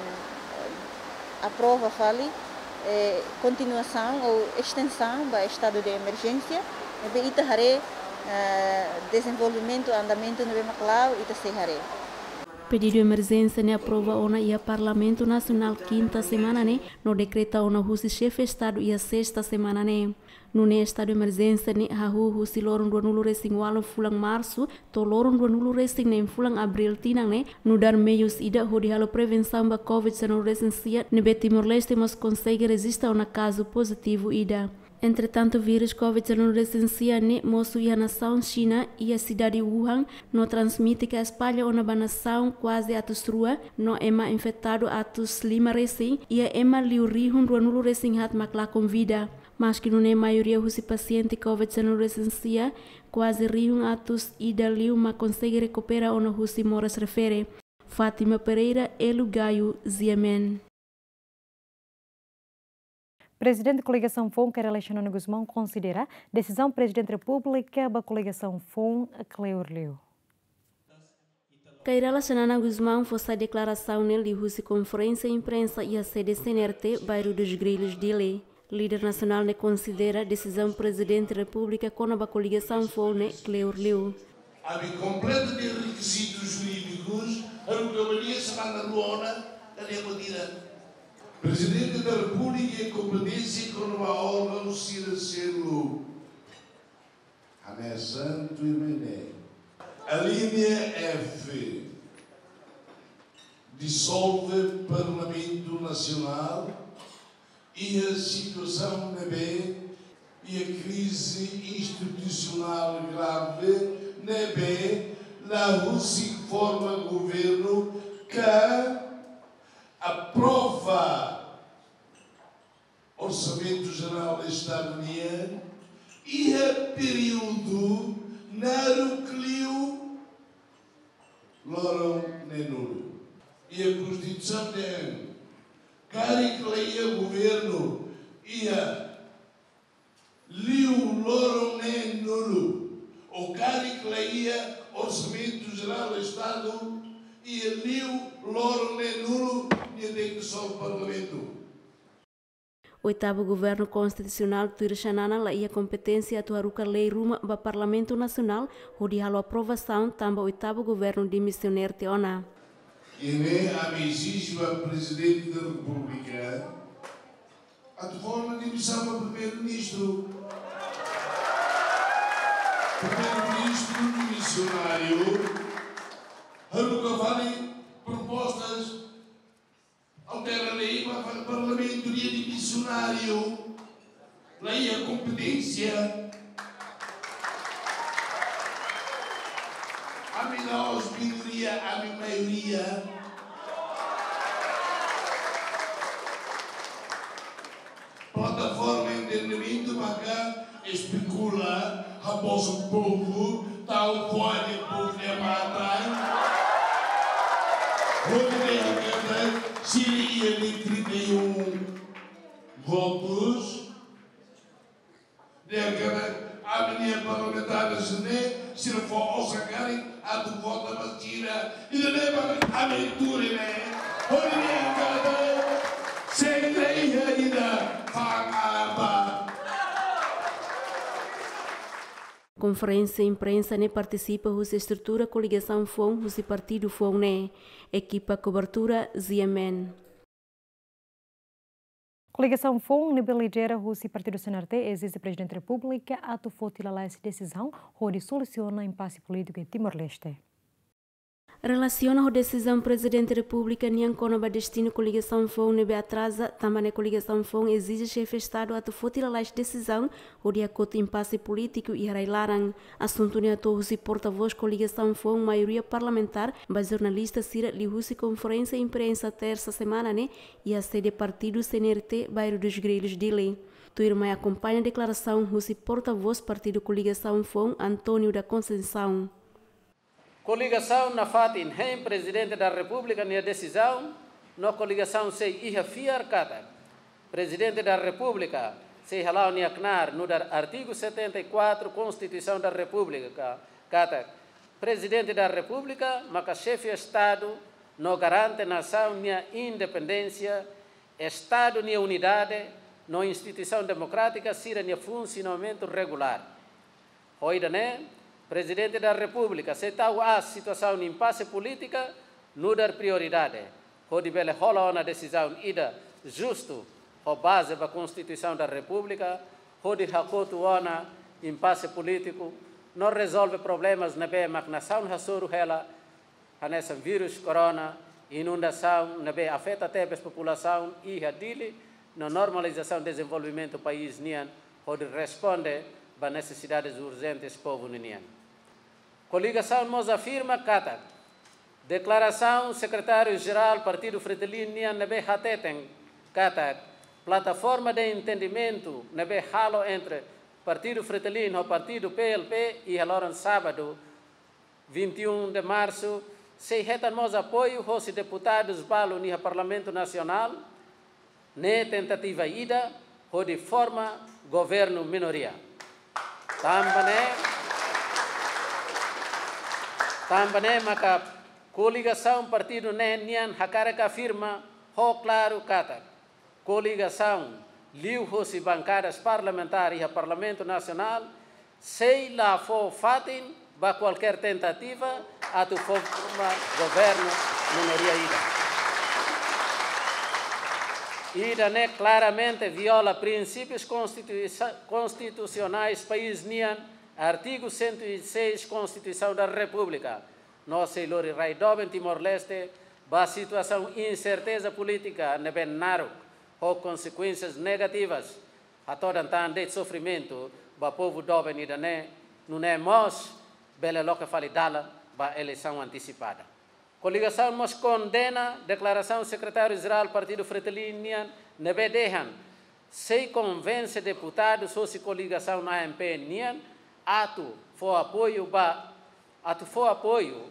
aprova fali, eh, kontinuasaun ou estensaun ba estadu de emerjénsia, ne'ebé ita haree, eh, dezenvolvimentu, andamentu ne'ebé mak la'o, ita sei haree. Pedidu emerjénsia ne'e aprova ona iha Parlamentu Nasionál kinta semana ne'e, no dekreta ona husi Xefe Estadu iha sesta semana ne'e. Nune'e estadu emerjénsia ne'e hahú husi loron ruanulu-resin-ualu fulan Marsu to'o loron ruanulu-resin-neen fulan Abríl tinan ne'e, nu'udar meius ida hodi halo prevensaun ba Covid sanulu-resin-sia, ne'ebé Timor-Leste mós konsege rejista ona kazu pozitivu ida. Entretantu, vírus Covid sanulu-resin-sia ne'e mosu iha nasaun Xina, iha sidade Wuhan, no transmite ka espalla ona ba nasaun kuaze atus rua, no ema infetadu atus lima resin, iha ema liu rihun ruanulu-resin-haat mak lakon vida. Maski nune'e maioria husi pasiente Covid sanulu-resin-sia, kuaze rihun atus ida liu mak konsege rekupera ona husi moras refere. Fátima Pereira, Elu Gayo, G M N. Prezidente Koligasaun Foun, Kay Rala Xanana Gusmão, konsidera desizaun Prezidente Repúblika ba koligasaun Foun kleur liu. Kay Rala Xanana Gusmão fó sai deklarasaun ne'e liuhusi konferénsia imprensa iha sede C N R T, Bairro dos Grilhos, Dili. Líder nasionál ne'e konsidera desizaun Prezidente Repúblika kona-ba koligasaun Foun ne'e kleur liu. Ami kompleta nia rekizitus jurídikus, haruka ba nia semana rua ona, ka nia pode tira. Prezidente da Repúblika iha kompeténsia kona-ba órgaun sira seluk. Hanesan tuirmai ne'e. Alínea F. Disolve Parlamentu Nasionál iha situasaun ne'ebé iha krize institusionál grave ne'ebé la husik forma governu ka aprova Orsamentu Jerál Estadu nian iha períodu naruk liu loron neenulu. Iha Konstituisaun dehan karik la iha governu iha liu loron neenulu, ou karik la iha Orsamentu Jerál Estadu iha liu loron neenulu, nia tenke disolve Parlamentu. Oitavu Governu Konstitusionál tuir Xanana la iha kompeténsia atu haruka lei ruma ba Parlamentu Nasionál hodi halo aprovasaun tanba oitavu governu dimisionáriu tiha ona. Ida-ne'e ami ezije ba Prezidente da Repúblika atu forma dimisaun ba Primeiru-Ministru. Primeiru-Ministru dimisionáriu haruka fali propostas altera lei ba fali Parlamentu, nia dimisionáriu, la iha kompeténsia. Ami la'ós minoria, ami maioria. Plataforma Entendimentu maka espekula, habosan povu, tau fora de povu de matan. Hodi dehan katak sira iha ne'e trinta e um votus. Dehan katak ami-nia parlamentares ne'e, sira fó osan karik atu vota ba sira. Ida-ne'e mak ami tuur ne'e. Hodi dehan katak sei la iha ida fa'an ba. Konferénsia imprensa ne'e partisipa husi estrutura koligasaun Foun husi partidu Foun ne'e. Ekipa kobertura Z M N. Koligasaun Foun ne'ebé lidera husi partidu C N R T ezije Prezidente Repúblika atu foti lalais desizaun hodi solusiona impase polítiku iha Timor-Leste. Relasiona ho desizaun Prezidente Repúblika nian kona-ba destinu koligasaun Foun ne'ebé atraza, tanba ne'e koligasaun Foun ezije Xefe Estadu atu foti lalais desizaun hodi hakotu impase polítiku iha rai-laran. Asuntu ne'e hato'o husi portavós koligasaun Foun maioria parlamentár ba jornalista sira liuhusi konferénsia imprensa tersa semana ne'e iha sede partidu C N R T, Bairro dos Grilhos, Dili. Tuirmai akompaña deklarasaun husi portavós partidu koligasaun Foun, António da Conceição. Koligasaun nafatin hein Prezidente da Repúblika nia desizaun, No koligasaun sei iha fiar katak Prezidente da Repúblika sei hala'o nia knaar nu'udar artigu setenta e quatro Konstituisaun da Repúblika, katak Prezidente da Repúblika maka xefe Estadu no garante nasaun nia independénsia, Estadu nia unidade no instituisaun demokrátika sira-nia funsionamentu regulár. Ho ida-ne'e, Prezidente da Repúblika sei tau aas situasaun impase polítika nu'udar prioridade, hodi bele hola ona desizaun ida justu, ho baze ba Konstituisaun da Repúblika, hodi hakotu ona impase polítiku, no rezolve problemas ne'ebé mak nasaun hasoru hela, hanesan vírus corona, inundasaun ne'ebé afeta tebes populasaun iha Dili, no normalizasaun dezenvolvimentu país nian, hodi responde ba nesesidades urjentes povu ninian. Koligasaun mós afirma katak deklarasaun Sekretáriu-Jerál Partidu Fretilin nian ne'ebé hateten katak plataforma de entendimentu ne'ebé halo entre Partidu Fretilin ho Partidu P L P iha loron sábadu, vinte e um de março, sei hetan mós apoiu hosi deputadus balu iha Parlamentu Nasionál, ne'e tentativa ida hodi forma governu minoria. Tanba ne'e, tanba ne'e maka koligasaun partidu ne'e nian hakarak afirma ho klaru katak koligasaun liuhosi bankadas parlamentár iha Parlamentu Nasionál sei la fó fatin ba kualkér tentativa atu forma governu minoria ida. Ida-ne'e klaramente viola prinsípius konstituisa-, konstitusionais país nian, artigu cento e seis Konstituisaun da Repúblika, no sei lori rai doben Timor-Leste ba situasaun inserteza polítika ne'ebé naruk, ho konsekuénsias negativas, hatodan tan de'it sofrimentu ba povu doben ida-ne'e, nune'e mós bele loke fali dalan ba eleisaun antesipada. Koligasaun mós kondena deklarasaun Sekretáriu-Jerál Partidu Fretilin nian ne'ebé dehan sei konvense deputadus hosi koligasaun A M P nian atu fó apoiu ba, atu fó apoiu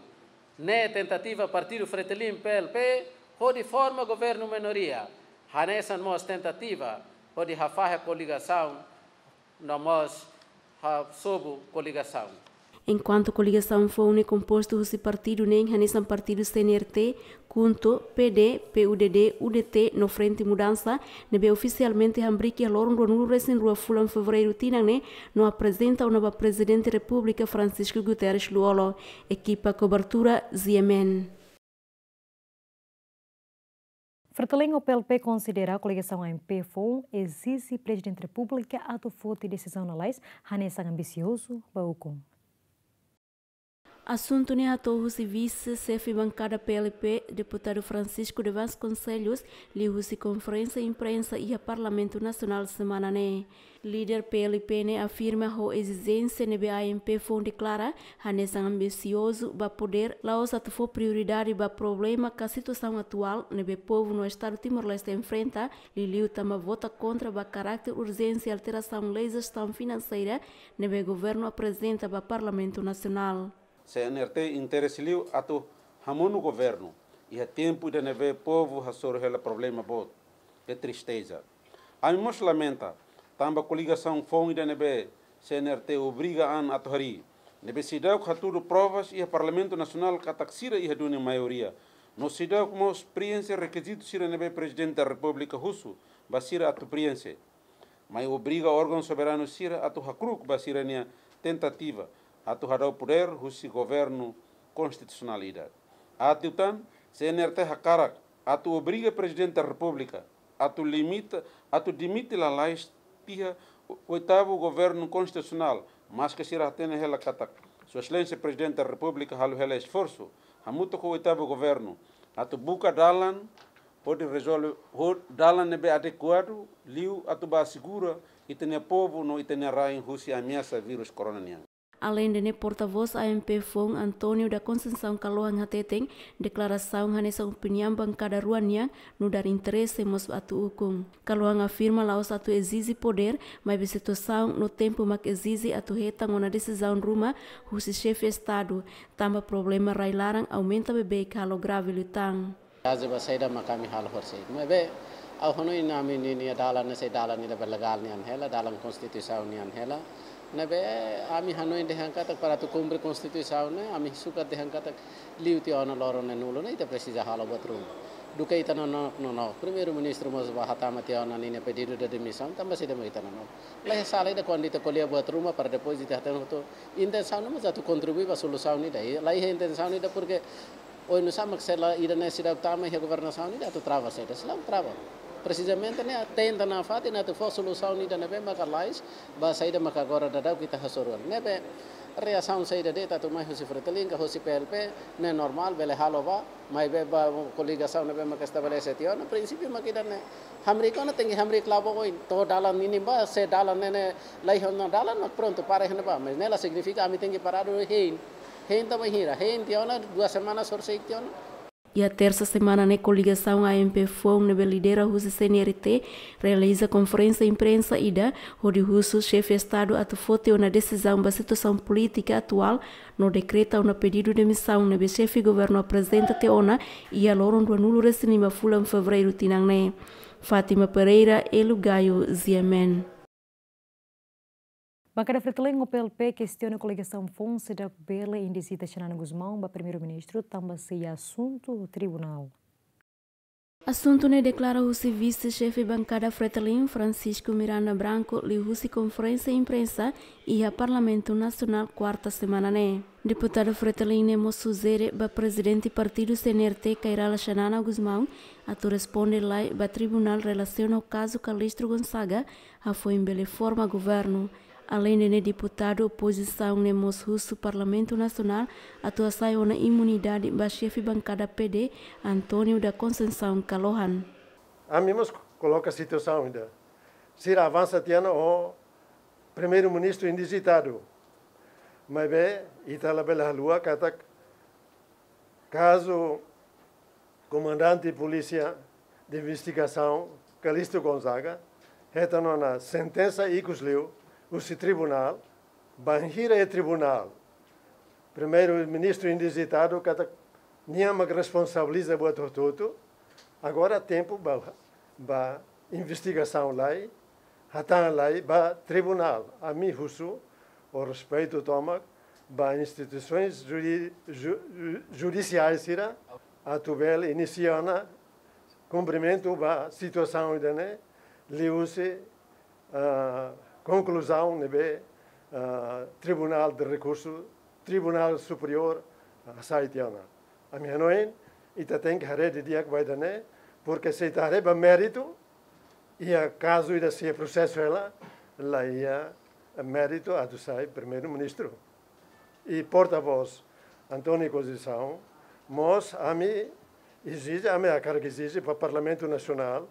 ne'e tentativa Partidu Fretilin P L P hodi forma governu minoria, hanesan mós tentativa hodi hafahe koligasaun no mós hasobu koligasaun. Enkuantu koligasaun foun ne'e kompostu husi partidu neen hanesan partidu C N R T, KHUNTO, P D, P U D D, U D T no Frente Mudansa, ne'ebé ofisialmente hamriik iha loron ruanulu-resin-rua fulan Fevereiru tinan ne'e, no aprezenta ona ba Prezidente Repúblika Francisco Guterres Lú-Olo. Ekipa kobertura, Z M N. Fretilin ho P L P konsidera koligasaun A M P foun ezije Prezidente Repúblika atu foti desizaun lalais hanesan ambisiozu ba ukun. Asuntu ne'e hato'o husi vise xefe bankada P L P, Deputadu Francisco de Vasconcelos, liuhusi konferénsia imprensa iha Parlamentu Nasionál semana ne'e. Líder P L P ne'e afirma ho ezijénsia ne'ebé A M P foun deklara hanesan ambisiozu ba podér, la'ós atu fó prioridade ba problema ka situasaun atuál ne'ebé povu no Estadu Timor-Leste enfrenta, liuliu tanba vota kontra ba karáter urjénsia alterasaun lei jestaun finanseira ne'ebé governu aprezenta ba Parlamentu Nasionál. C N R T interese liu atu hamonu governu iha tempu ida ne'ebé povu hasoru hela problema boot. É tristeza. Ami mós lamenta tanba koligasaun foun ida ne'ebé C N R T obriga an atu harii, ne'ebé seidauk hatudu provas iha Parlamentu Nasionál katak sira iha duni maioria, no seidauk mós prienxe rekizitu sira ne'ebé Prezidente da Repúblika husu ba sira atu prienxe, mai obriga órgaun soberanu sira atu hakru'uk ba sira-nia tentativa atu hadau podér husi governu konstitusionál ida. Atu tan, C N R T hakarak atu obriga Prezidente da Repúblika atu limita, atu dimite lalais tiha oitavu governu konstitusionál, maske sira hatene hela katak Sua Exelénsia Prezidente da Repúblika halo hela esforsu hamutuk ho oitavu governu atu buka dalan hodi rezolve ho dalan ne'ebé adekuadu, liu atu bá asegura ita-nia povu no ita-nia rain husi ameasa vírus corona nian. Aleinde ne'e, portavós A M P foun António da Conceição Kalohan hateten, deklarasaun hanesan opiniaun bankada rua nian, nu'udar interese mós atu ukun. Kalohan afirma la'ós atu ezije podér, maibé situasaun no tempu mak ezije atu hetan ona desizaun ruma husi xefe Estadu, tanba problema rai-laran aumenta beibeik halo grave liután. Kazu ba saida mak ami halo horisehik. Maibé, ha'u hanoin ami-nia dalan ne'e sai dalan ida be legál nian hela, dalan konstituisaun nian hela. Ne'ebé ami hanoin dehan katak para atu kumpre konstituisaun ne'e, ami sukat dehan katak liu tiha ona loron ne'e nulu ne'e ita presiza halo buat ruma. Duké ita nonook, nonook. Primeiru-Ministru mós bá hatama tiha ona ninia pedidu de demisaun, tanba saida mak ita nonook. Laiha sala ida kuandu ita ko'alia buat ruma para depois ita hatene hotu. Intensaun ne'e mós atu kontribui ba solusaun ida. I laiha intensaun ida porke oinsá mak sela ida ne'e seidauk tama iha governasaun ida atu trava saida, seidauk trava. Presizamente ne'e tenta nafatin atu fó solusaun ida ne'ebé maka lais ba saida maka agora daudauk ita hasoru. Ne'ebé reasaun saida de'it atu mai husi Fretilin ka husi P L P ne'e normál, bele halo bá, maibé ba koligasaun ne'ebé maka estabelese tiha ona, prinsípiu mak ida-ne'e. Hamriik ona tenke hamriik klabu oin, to'o dalan ninin bá, se dalan ne'e ne'e laiha ona dalan mak prontu, para iha ne'ebá. Mas ne'e la signifika ami tenke paradu hein. Hein to'o bainhira, hein tiha ona, dua semana horisehik tiha ona. Iha tersa semana ne'e koligasaun A M P foun ne'ebé lidera husi C N R T realiza konferénsia imprensa ida hodi husu xefe Estadu atu foti ona desizaun ba situasaun polítika atuál no dekreta ona pedidu demisaun ne'ebé xefe governu aprezenta tiha ona iha loron ruanulu-resin-lima fulan Fevereiru tinan ne'e. Fátima Pereira, Elo Gayo, G M N. Bankada Fretilin ho P L P kestiona koligasaun foun seidauk bele indizita Xanana Gusmão ba Primeiru-Ministru tanba sei asuntu tribunál. Asuntu ne'e deklara husi vise-xefe bankada Fretilin, Francisco Miranda Branco, liuhusi konferénsia imprensa iha Parlamentu Nasionál, kuarta semana ne'e. Deputadu Fretilin ne'e mós sujere ba prezidente partidu C N R T, Kay Rala Xanana Gusmão, atu responde lai ba tribunál relasiona ho kazu Calixto Gonzaga, hafoin bele forma governu. Aleinde ne'e, deputadu opozisaun ne'e mós husu Parlamentu Nasionál atu hasai ona imunidade ba xefe bankada P D, António da Conceição Kalohan. Ami mós koloka situasaun ida. Sira avansa tiha ona ho Primeiru-Ministru indizitadu. Maibé, ita labele haluha katak kazu komandante polísia de investigasaun, Calixto Gonzaga, hetan ona sentensa ikus liu husi tribunál, bainhira iha tribunál Primeiru-Ministru indizitadu katak nia mak responsabiliza buat hotu-hotu. Agora tempu ba, ba investigasaun lai, hatán lai ba tribunál. Ami husu ho respeitu tomak ba instituisoens judi-, ju-, judisiais sira atu bele inisia ona kumprimentu ba situasaun ida-ne'e, liuhusi, ah, konkluzaun ne'ebé, ah, Tribunál de Rekursu, Tribunál Superiór, ah, hasai tiha ona. Ami hanoin, ita tenke haree didi'ak ba ida-ne'e, porke se ita haree ba méritu, iha kazu ida sei prosesu hela, la iha méritu atu sai Primeiru-Ministru. I portavós António Conceição, mós ami ezije, ami hakarak ezije ba Parlamentu Nasionál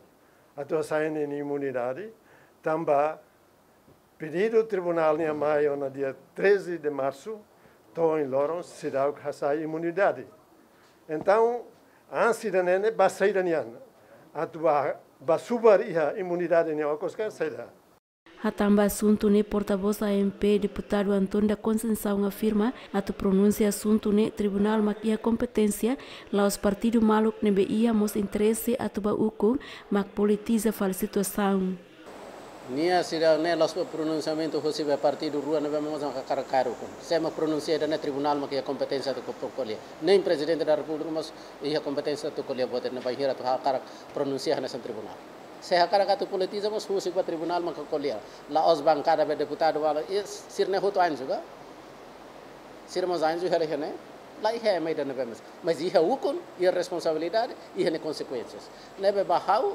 atu hasai ninia imunidade, tanba pedidu tribunál nian mai ona dia treze de março, to'o ohin loron seidauk hasai imunidade. Entaun, ansi ida-ne'e ne'e ba saida nian, atu ba, ba subar iha imunidade nian okos ka saida. Hatán ba asuntu ne'e, portavós A M P, deputadu António da Conceição, afirma atu pronunsia asuntu ne'e tribunál mak iha kompeténsia, la'ós partidu maluk ne'ebé iha mós interese atu ba ukun, mak politiza fali situasaun. Nia sira ne'e la'ós pronunsiamentu husi be partidu rua ne'ebé mós hakarak kaer ukun. Sé mak pronunsia ida-ne'e, tribunál mak iha kompeténsia atu ko-, ko'alia. Nein Prezidente da Repúblika mós iha kompeténsia atu ko'alia buat ne'e, bainhira atu hakarak pronunsia hanesan tribunál. Se hakarak atu politiza mós husik ba tribunál maka ko'alia. La'ós bankada be deputadu wala, i sira-ne'e hotu anju ka? Sira mós anju hela iha ne'e? La iha ema ida ne'ebé mós. Mas iha ukun, iha responsabilidade, iha nia konsekuénsias. Ne'ebé ba ha'u,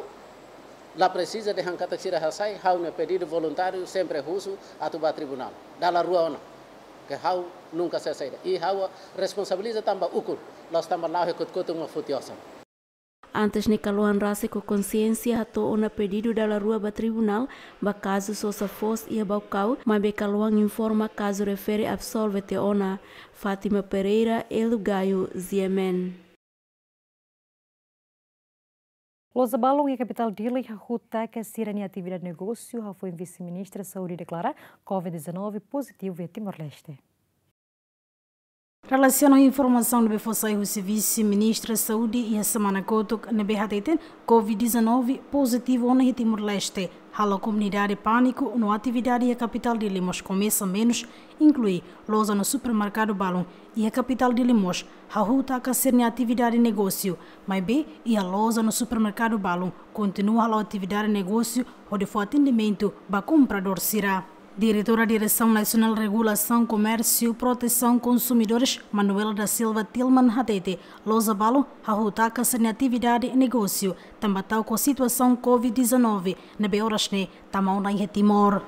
la presiza dehan katak sira hasai, ha'u-nia pedidu voluntáriu sempre husu atu ba tribunál. Dala rua ona. Ke ha'u nunka sei saida. I ha'u responsabiliza tanba ukun, la'ós tanba la'o iha kotuk-kotuk mak foti osan. Antes ne'e Kalohan rasik ho konsiénsia hato'o ona pedidu dala rua ba tribunál ba kazu sosa foos iha Baucau, maibé Kalohan informa kazu refere absolve tiha ona. Fátima Pereira, Elo Gayo, G M N. Loja balun iha kapitál Dili hahuta katak sira-nia atividade negósiu hafoin Vise-Ministra Saúde deklara covid dezanove pozitivu iha Timor-Leste. Relasiona ho informasaun ne'ebé fó sai husi Vise-Ministra Saúde iha semana kotuk, ne'ebé hateten COVID dezanove pozitivu ona iha Timor-Leste, halo komunidade pániku no atividade iha kapitál Dili mós komesa menus, inklui loja no supermerkadu balun iha kapitál Dili mós hahú taka sira-nia atividade negósiu, maibé iha loja no supermerkadu balun kontinua hala'o atividade negósiu hodi fó atendimentu ba kompradór sira. Diretora Diresaun Nasionál Regulasaun Komérsiu Protesaun Konsumidores, Manuela da Silva Tilman, hateten loja balun hahú taka sira-nia atividade negósiu tanba ta'uk ho situasaun COVID dezanove ne'ebé oras ne'e tama ona iha Timor.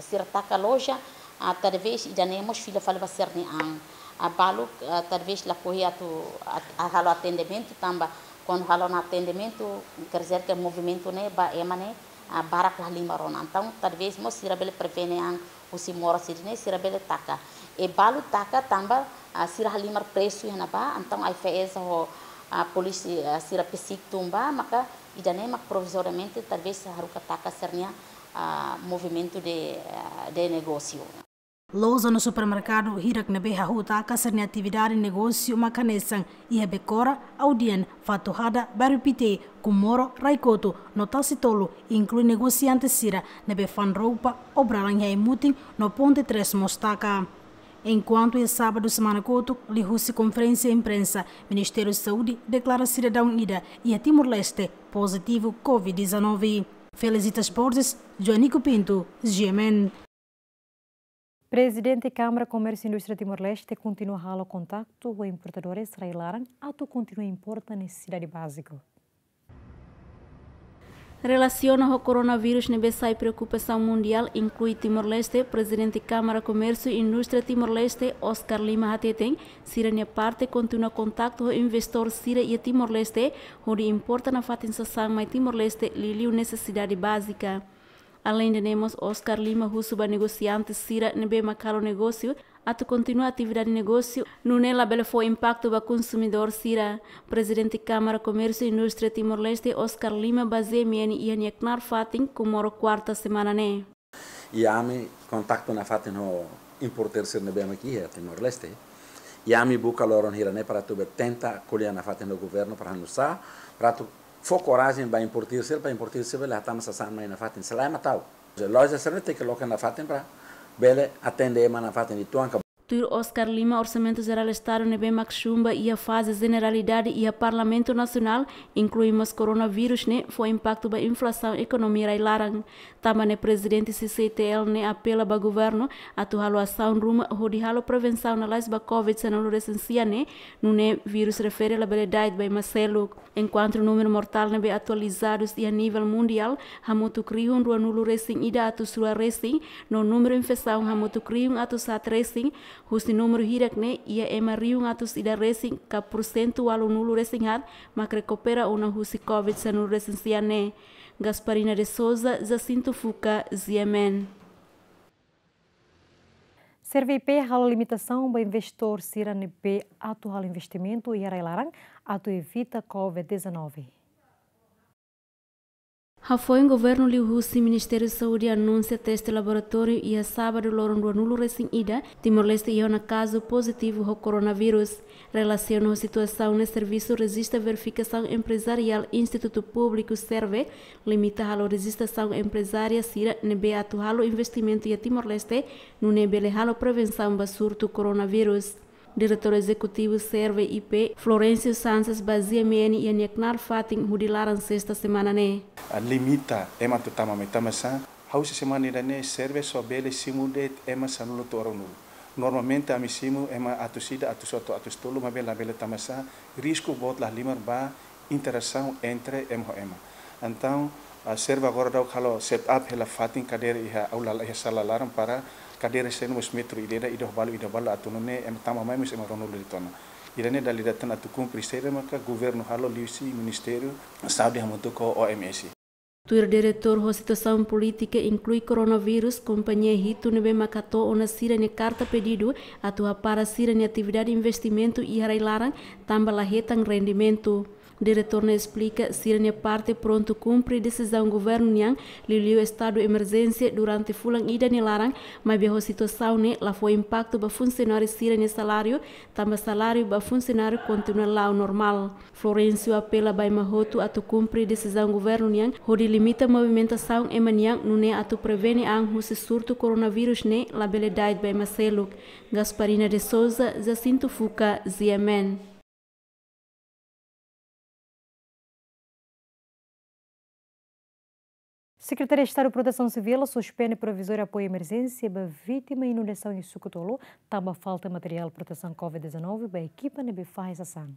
Sira taka loja, ah, talvés ida-ne'e mós fila fali ba sira-nia an. Ah, balu, ah, talvés lakohi atu at-, ah, halo atendimentu tanba kuandu halo ona atendimentu, quer dizer que movimentu ne'e ba ema ne'e, ah, barak la halimar ona. Entaun, talvés mós sira bele prevene an husi moras sira-ne'e, sira bele taka. I balu taka tanba, ah, sira halimar presu iha ne'ebá, entaun AIFAESA ho, ah, polísia, ah, sira besik tun ba, maka ida-ne'e mak provizoriamente talvés haruka taka sira-nia, ah, movimentu de, ah, de negósiu. Loja no supermerkadu hirak ne'ebé hahú taka sira-nia atividade negósiu mak hanesan iha Bekora, Audian, Fatuhada, Bairru Pité, Comoro, Raikotu no Tasitolu, inklui negosiante sira ne'ebé fa'an roupa, obralan iha Ai-Mutin no Ponte Três mós taka. Enkuantu iha sábadu semana kotuk, liuhusi konferénsia imprensa, Ministériu Saúde deklara sidadaun ida iha Timor-Leste pozitivu COVID dezanove. Felicitas Borges, Joanico Pinto, G M N. Prezidente Kámara Komérsiu Indústria Timor-Leste kontinua halo kontaktu ho importadores rai-laran atu kontinua importa nesesidade báziku. Relasiona ho koronavírus ne'ebé sai preokupasaun mundiál, inklui Timor-Leste, Prezidente Kámara Komérsiu Indústria Timor-Leste, Oscar Lima, hateten sira-nia parte kontinua kontaktu ho investidór sira iha Timor-Leste hodi importa nafatin sasán mai Timor-Leste liuliu nesesidade bázika. Aleinde ne'e mós, Oscar Lima husu ba negosiante sira ne'ebé mak halo negósiu atu kontinua atividade negósiu, nune'e labele fó impaktu ba konsumidór sira. Prezidente Kámara Komérsiu Indústria Timor-Leste, Oscar Lima, ba G M N iha nia knaar fatin, Comoro, kuarta semana ne'e. I ami kontaktu nafatin ho importadór sira ne'ebé mak iha Timor-Leste. I ami buka loron hira-ne'e para atu bele tenta ko'alia nafatin ho governu para halo nu'usá, para atu fó korajen ba importadór sira, para importadór sira bele hatama sasán mai nafatin, se lae mak ta'uk. Loja sira-ne'e tenke loke nafatin para bele atende ema nafatin uitoan ka. Tuir Oscar Lima, Orsamentu Jerál Estadu ne'ebé mak xumba iha faze jeneralidade iha Parlamentu Nasionál, inklui mós koronavírus ne'e fó impaktu ba inflasaun ekonomia rai-laran. Tanba ne'e Prezidente C C I T L ne'e apela ba governu atu halo asaun ruma hodi halo prevensaun lalais ba COVID sanulu-resin-sia ne'e, nune'e vírus refere labele da'et ba ema seluk. Enkuantu númeru mortál ne'ebé atualizadus iha nivel mundiál hamutuk rihun ruanulu-resin-ida atus rua resin, no númeru infesaun hamutuk rihun atus haat resin, husi númeru hirak ne'e iha ema rihun atus ida resin ka porsentu ualunulu-resin-haat mak rekupera ona husi COVID sanulu-resin-sia ne'e. Gasparina de Souza, Jacinto Fuca, G M N. SERVE I P halo limitasaun ba investidór sira ne'ebé atu halo investimentu iha rai-laran atu evita COVID dezanove. Hafoin governu liuhusi Ministériu Saúde anunsia teste laboratóriu iha sábadu loron ruanulu-resin-ida, Timor-Leste iha ona kazu pozitivu ho koronavírus. Relasiona ho situasaun ne'e, Servisu Rejista Verifikasaun Emprezariál Institutu Públiku, SERVE, limita halo rejistrasaun emprezária sira ne'ebé atu halo investimentu iha Timor-Leste, nune'e bele halo prevensaun ba surtu koronavírus. Diretór Ezekutivu SERVE I P, Florencio Sanches, ba G M N iha nia knaar fatin hudi laran sesta semana ne'e. A limita ema atu tama mai, tanbasá, ha'u husi semana ida-ne'e SERVE só bele simu de'it ema sanulu to'o ruanulu. Normalmente ami simu ema atus ida, atus otu, atus tolu, maibé labele, tanbasá, risku boot la halimar ba interasaun entre ema ho ema. Entaun, a, SERVE agora daudaun halo set up hela fatin kadeira iha aula, iha sala laran para kadeira sira mós metru ida-idak, ida ho balu, ida ho balu, atu nune'e ema tama mai mós ema ruanulu de'it ona. Ida-ne'e dala ida tan atu kumpre sira maka governu halo liuhusi Ministériu Saúde hamutuk ho O M S. Tuir diretór, ho situasaun polítika inklui koronavírus, kompañia hitu ne'ebé mak hato'o ona sira-nia karta pedidu atu hapara sira-nia atividade investimentu iha rai-laran tanba la hetan rendimentu. Diretór ne'e esplika, sira-nia parte prontu kumpre desizaun governu nian, liuliu estadu emerjénsia durante fulan ida nia laran, maibé ho situasaun ne'e la fó impaktu ba funsionáriu sira-nia saláriu, tanba saláriu ba funsionáriu kontinua la'o normál. Florencio apela ba ema hotu atu kumpre desizaun governu nian, hodi limita movimentasaun ema nian, nune'e atu prevene an husi surtu koronavírus ne'e labele da'et ba ema seluk. Gasparina de Souza, Jacinto Fuca, G M N. Sekretaria Estadu Protesaun Sivíl suspende provizóriu apoiu emerjénsia ba vítima inundasaun iha Suku Tolu, tanba falta materiál protesaun covid dezanove ba ekipa ne'ebé fahe sasán.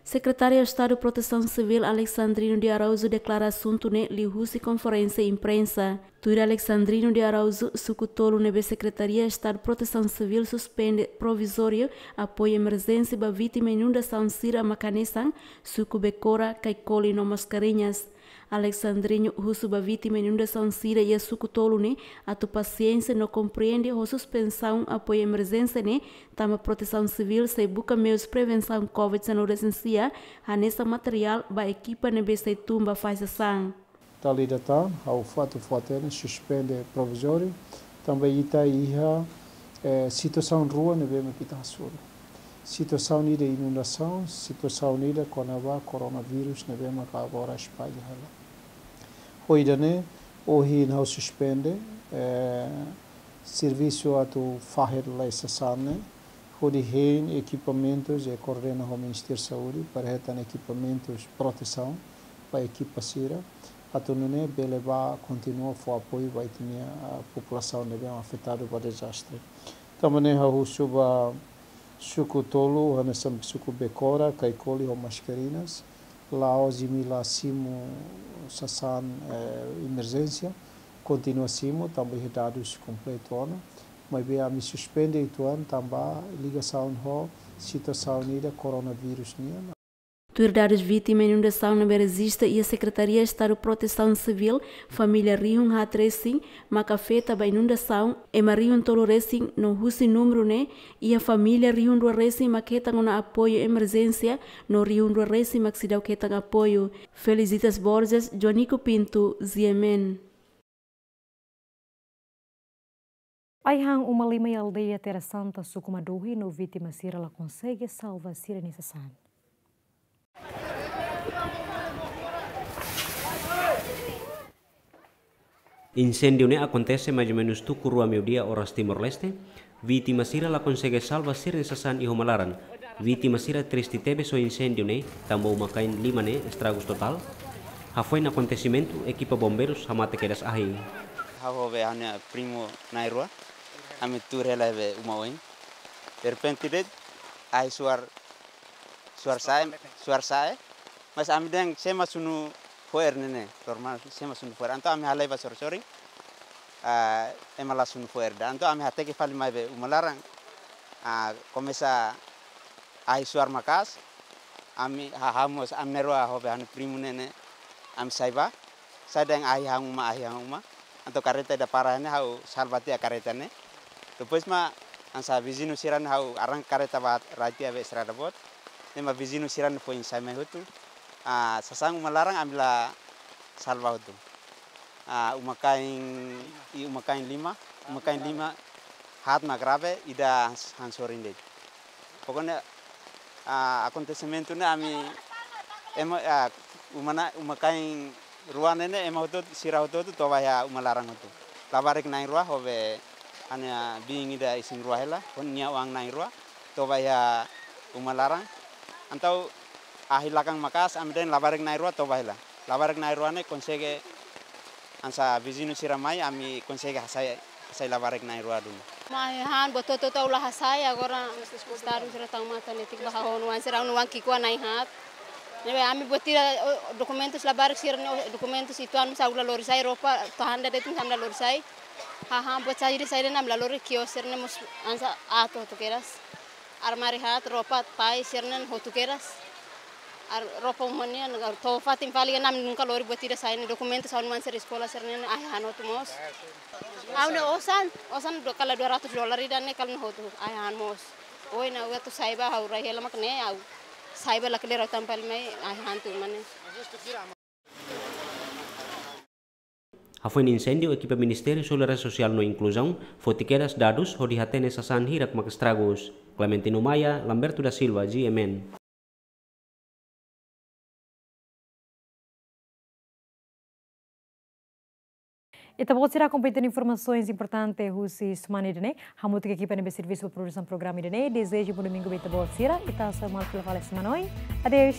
Sekretáriu Estadu Protesaun Sivíl Alexandrino de Araújo deklara asuntu ne'e liuhusi konferénsia imprensa. Tuir Alexandrino de Araújo, Suku Tolu ne'ebé Sekretaria Estadu Protesaun Sivíl suspende provizóriu apoiu emerjénsia ba vítima inundasaun sira mak hanesan Suku Bekora, Caicoli no Mascarenhas. Alexandrino husu ba vítima inundasaun sira iha Suku Tolu ne'e atu pasiénsia no komprende ho suspensaun apoiu emerjénsia ne'e, tanba Protesaun Sivíl sei buka meius prevensaun covid dezanove resin-sia, hanesan materiál ba ekipa ne'ebé sei tun ba fahe sasán. Dala ida tan, ha'u atu fó-hatene, suspende provizóriu, tanba ita iha, eh, situasaun rua ne'ebé mak ita hasoru. Situasaun ida inundasaun, situasaun ida kona-ba koronavírus ne'ebé mak agora espalla hela. Ho ida-ne'e, ohin ha'u suspende, eh, servisu atu fahe lai sasán ne'e, hodi hein ekipamentus i koordena ho Ministériu Saúde, para hetan ekipamentus protesaun ba ekipa sira, atu nune'e bele bá kontinua fó apoiu ba ita-nia, ah, populasaun ne'ebé afetadu ba dezastre. Tanba ne'e ha'u husu ba Suku Tolu, hanesan Suku Bekora, Caicoli ho Mascarenhas, la'ós imi la simu sasán, eh, emerjénsia, kontinua simu, tanba iha dadus kompletu ona, maibé ami suspende uitoan tanba ligasaun ho situasaun ida koronavírus nian. Tuir dadus vítima inundasaun ne'ebé rejista iha Sekretaria Estadu Protesaun Sivíl, família rihun haat resin mak afeta ba inundasaun, ema rihun tolu resin no husi númeru ne'e, iha família rihun rua resin mak hetan ona apoiu emerjénsia, no rihun rua resin mak seidauk hetan apoiu. Felicitas Borges, Joanico Pinto, G M N. Ai-han uma lima iha aldeia Terra Santa, Suku Madohi, no vítima sira la konsege salva sira-nia sasán. Inséndiu ne'e akontese mais ou menus tuku rua meiudia oras Timor-Leste. Vítima sira la konsege salva sira-nia sasán iha uma laran. Vítima sira triste tebes ho inséndiu ne'e, tanba uma-kain lima ne'e estragus totál. Hafoin akontesimentu, ekipa bombeirus hamate kedas ahi. Ha'u ho be ha'u-nia primu na'in-rua, ami tuur hela be uma oin. Derrepente de'it, ahi suar, suar sa'e, suar sa'e. Mas ami dehan sé mak sunu fo'er ne'e ne'e, normal, sé mak sunu fo'er. Entaun ami halai ba sorin-sorin, ah, ema la sunu fo'er ida. Entaun ami hateke fali mai be uma laran, ah, komesa ahi suar maka'as, ami hahamos, ami na'in-rua ho be ha'u-nia primu ne'e ne'e, ami sai bá, sai dehan ahi han uma, ahi han uma. Entaun karreta ida para ne'e ha'u salva tiha karreta ne'e. Depois mak hanesan viziñu sira ne'e ha'u arranka karreta bá rai tiha be estrada boot. Ne'e mak viziñu sira ne'e foin sai mai hotu. Ah, sasán uma laran ami la salva hotu. Ah, uma-kain, i uma-kain lima, uma-kain lima haat mak grave, ida han sorin de'it. Pokoknya, ah, akontesimentu ne'e ami, ema, ah, uma na, uma-kain rua ne'e ne'e ema hotu, sira hotu-hotu toba iha uma laran hotu. Labarik na'in-rua ho be ha'u-nia biin ida isin-rua hela, ho nia oan na'in-rua, toba iha uma laran. Entaun ahi lakang maka'as, ami dehan labarik na'in-rua toba hela. Labarik na'in-rua ne'e konsege hanesan viziñu sira mai, ami konsege hasai, hasai labarik na'in-rua duni. Mai han, buat hotu-hotu ha'u la hasai, agora estadu sira tau matan netik ba ha'u-nia oan sira, ha'u-nia oan ki'ikoan na'in haat. Ne'ebé ami buat ida, o, dokumentus labarik sira ne'e, o, dokumentus uitoan mós ha'u la lori sai, roupa, to'o handa de'it mós ami la lori sai. Hahán buat saida-saida ne'e ami la lori, kios sira ne'e mós hanesan aat hotu kedas. Armáriu haat, roupa pai sira ne'e hotu kedas. Ar-, roupa uma nian, to'o fatin fali ne'e ami nunka lori buat ida sai ne'e, dokumentus ha'u-nia oan sira eskola sira ne'e ahi han hotu mós. Ha'u-nia osan, osan du-, kala dua ratus dolar ida ne'e kala ne'e hotu, ahi han mós. Ohin ha'u atu sai bá ha'u rai hela mak ne'e ha'u. Saiba la klera tampal mai, ai hantu mane. Hafoin insendiu, ekipa Ministériu Solidariedade Sosiál no Inkluzaun foti kedas dadus hodi hatene sasán hirak mak estragus. Clementino Maia, Lamberto da Silva, G M N. Ita-boot sira, akompaña informasaun importante husi semana ida-ne'e. Hamutuk ho ekipa ne'ebé servisu ba produsaun programa ida-ne'e, dezeja bom domingu ba ita-boot sira, ita hasoru malu fali semana oin. Adeus.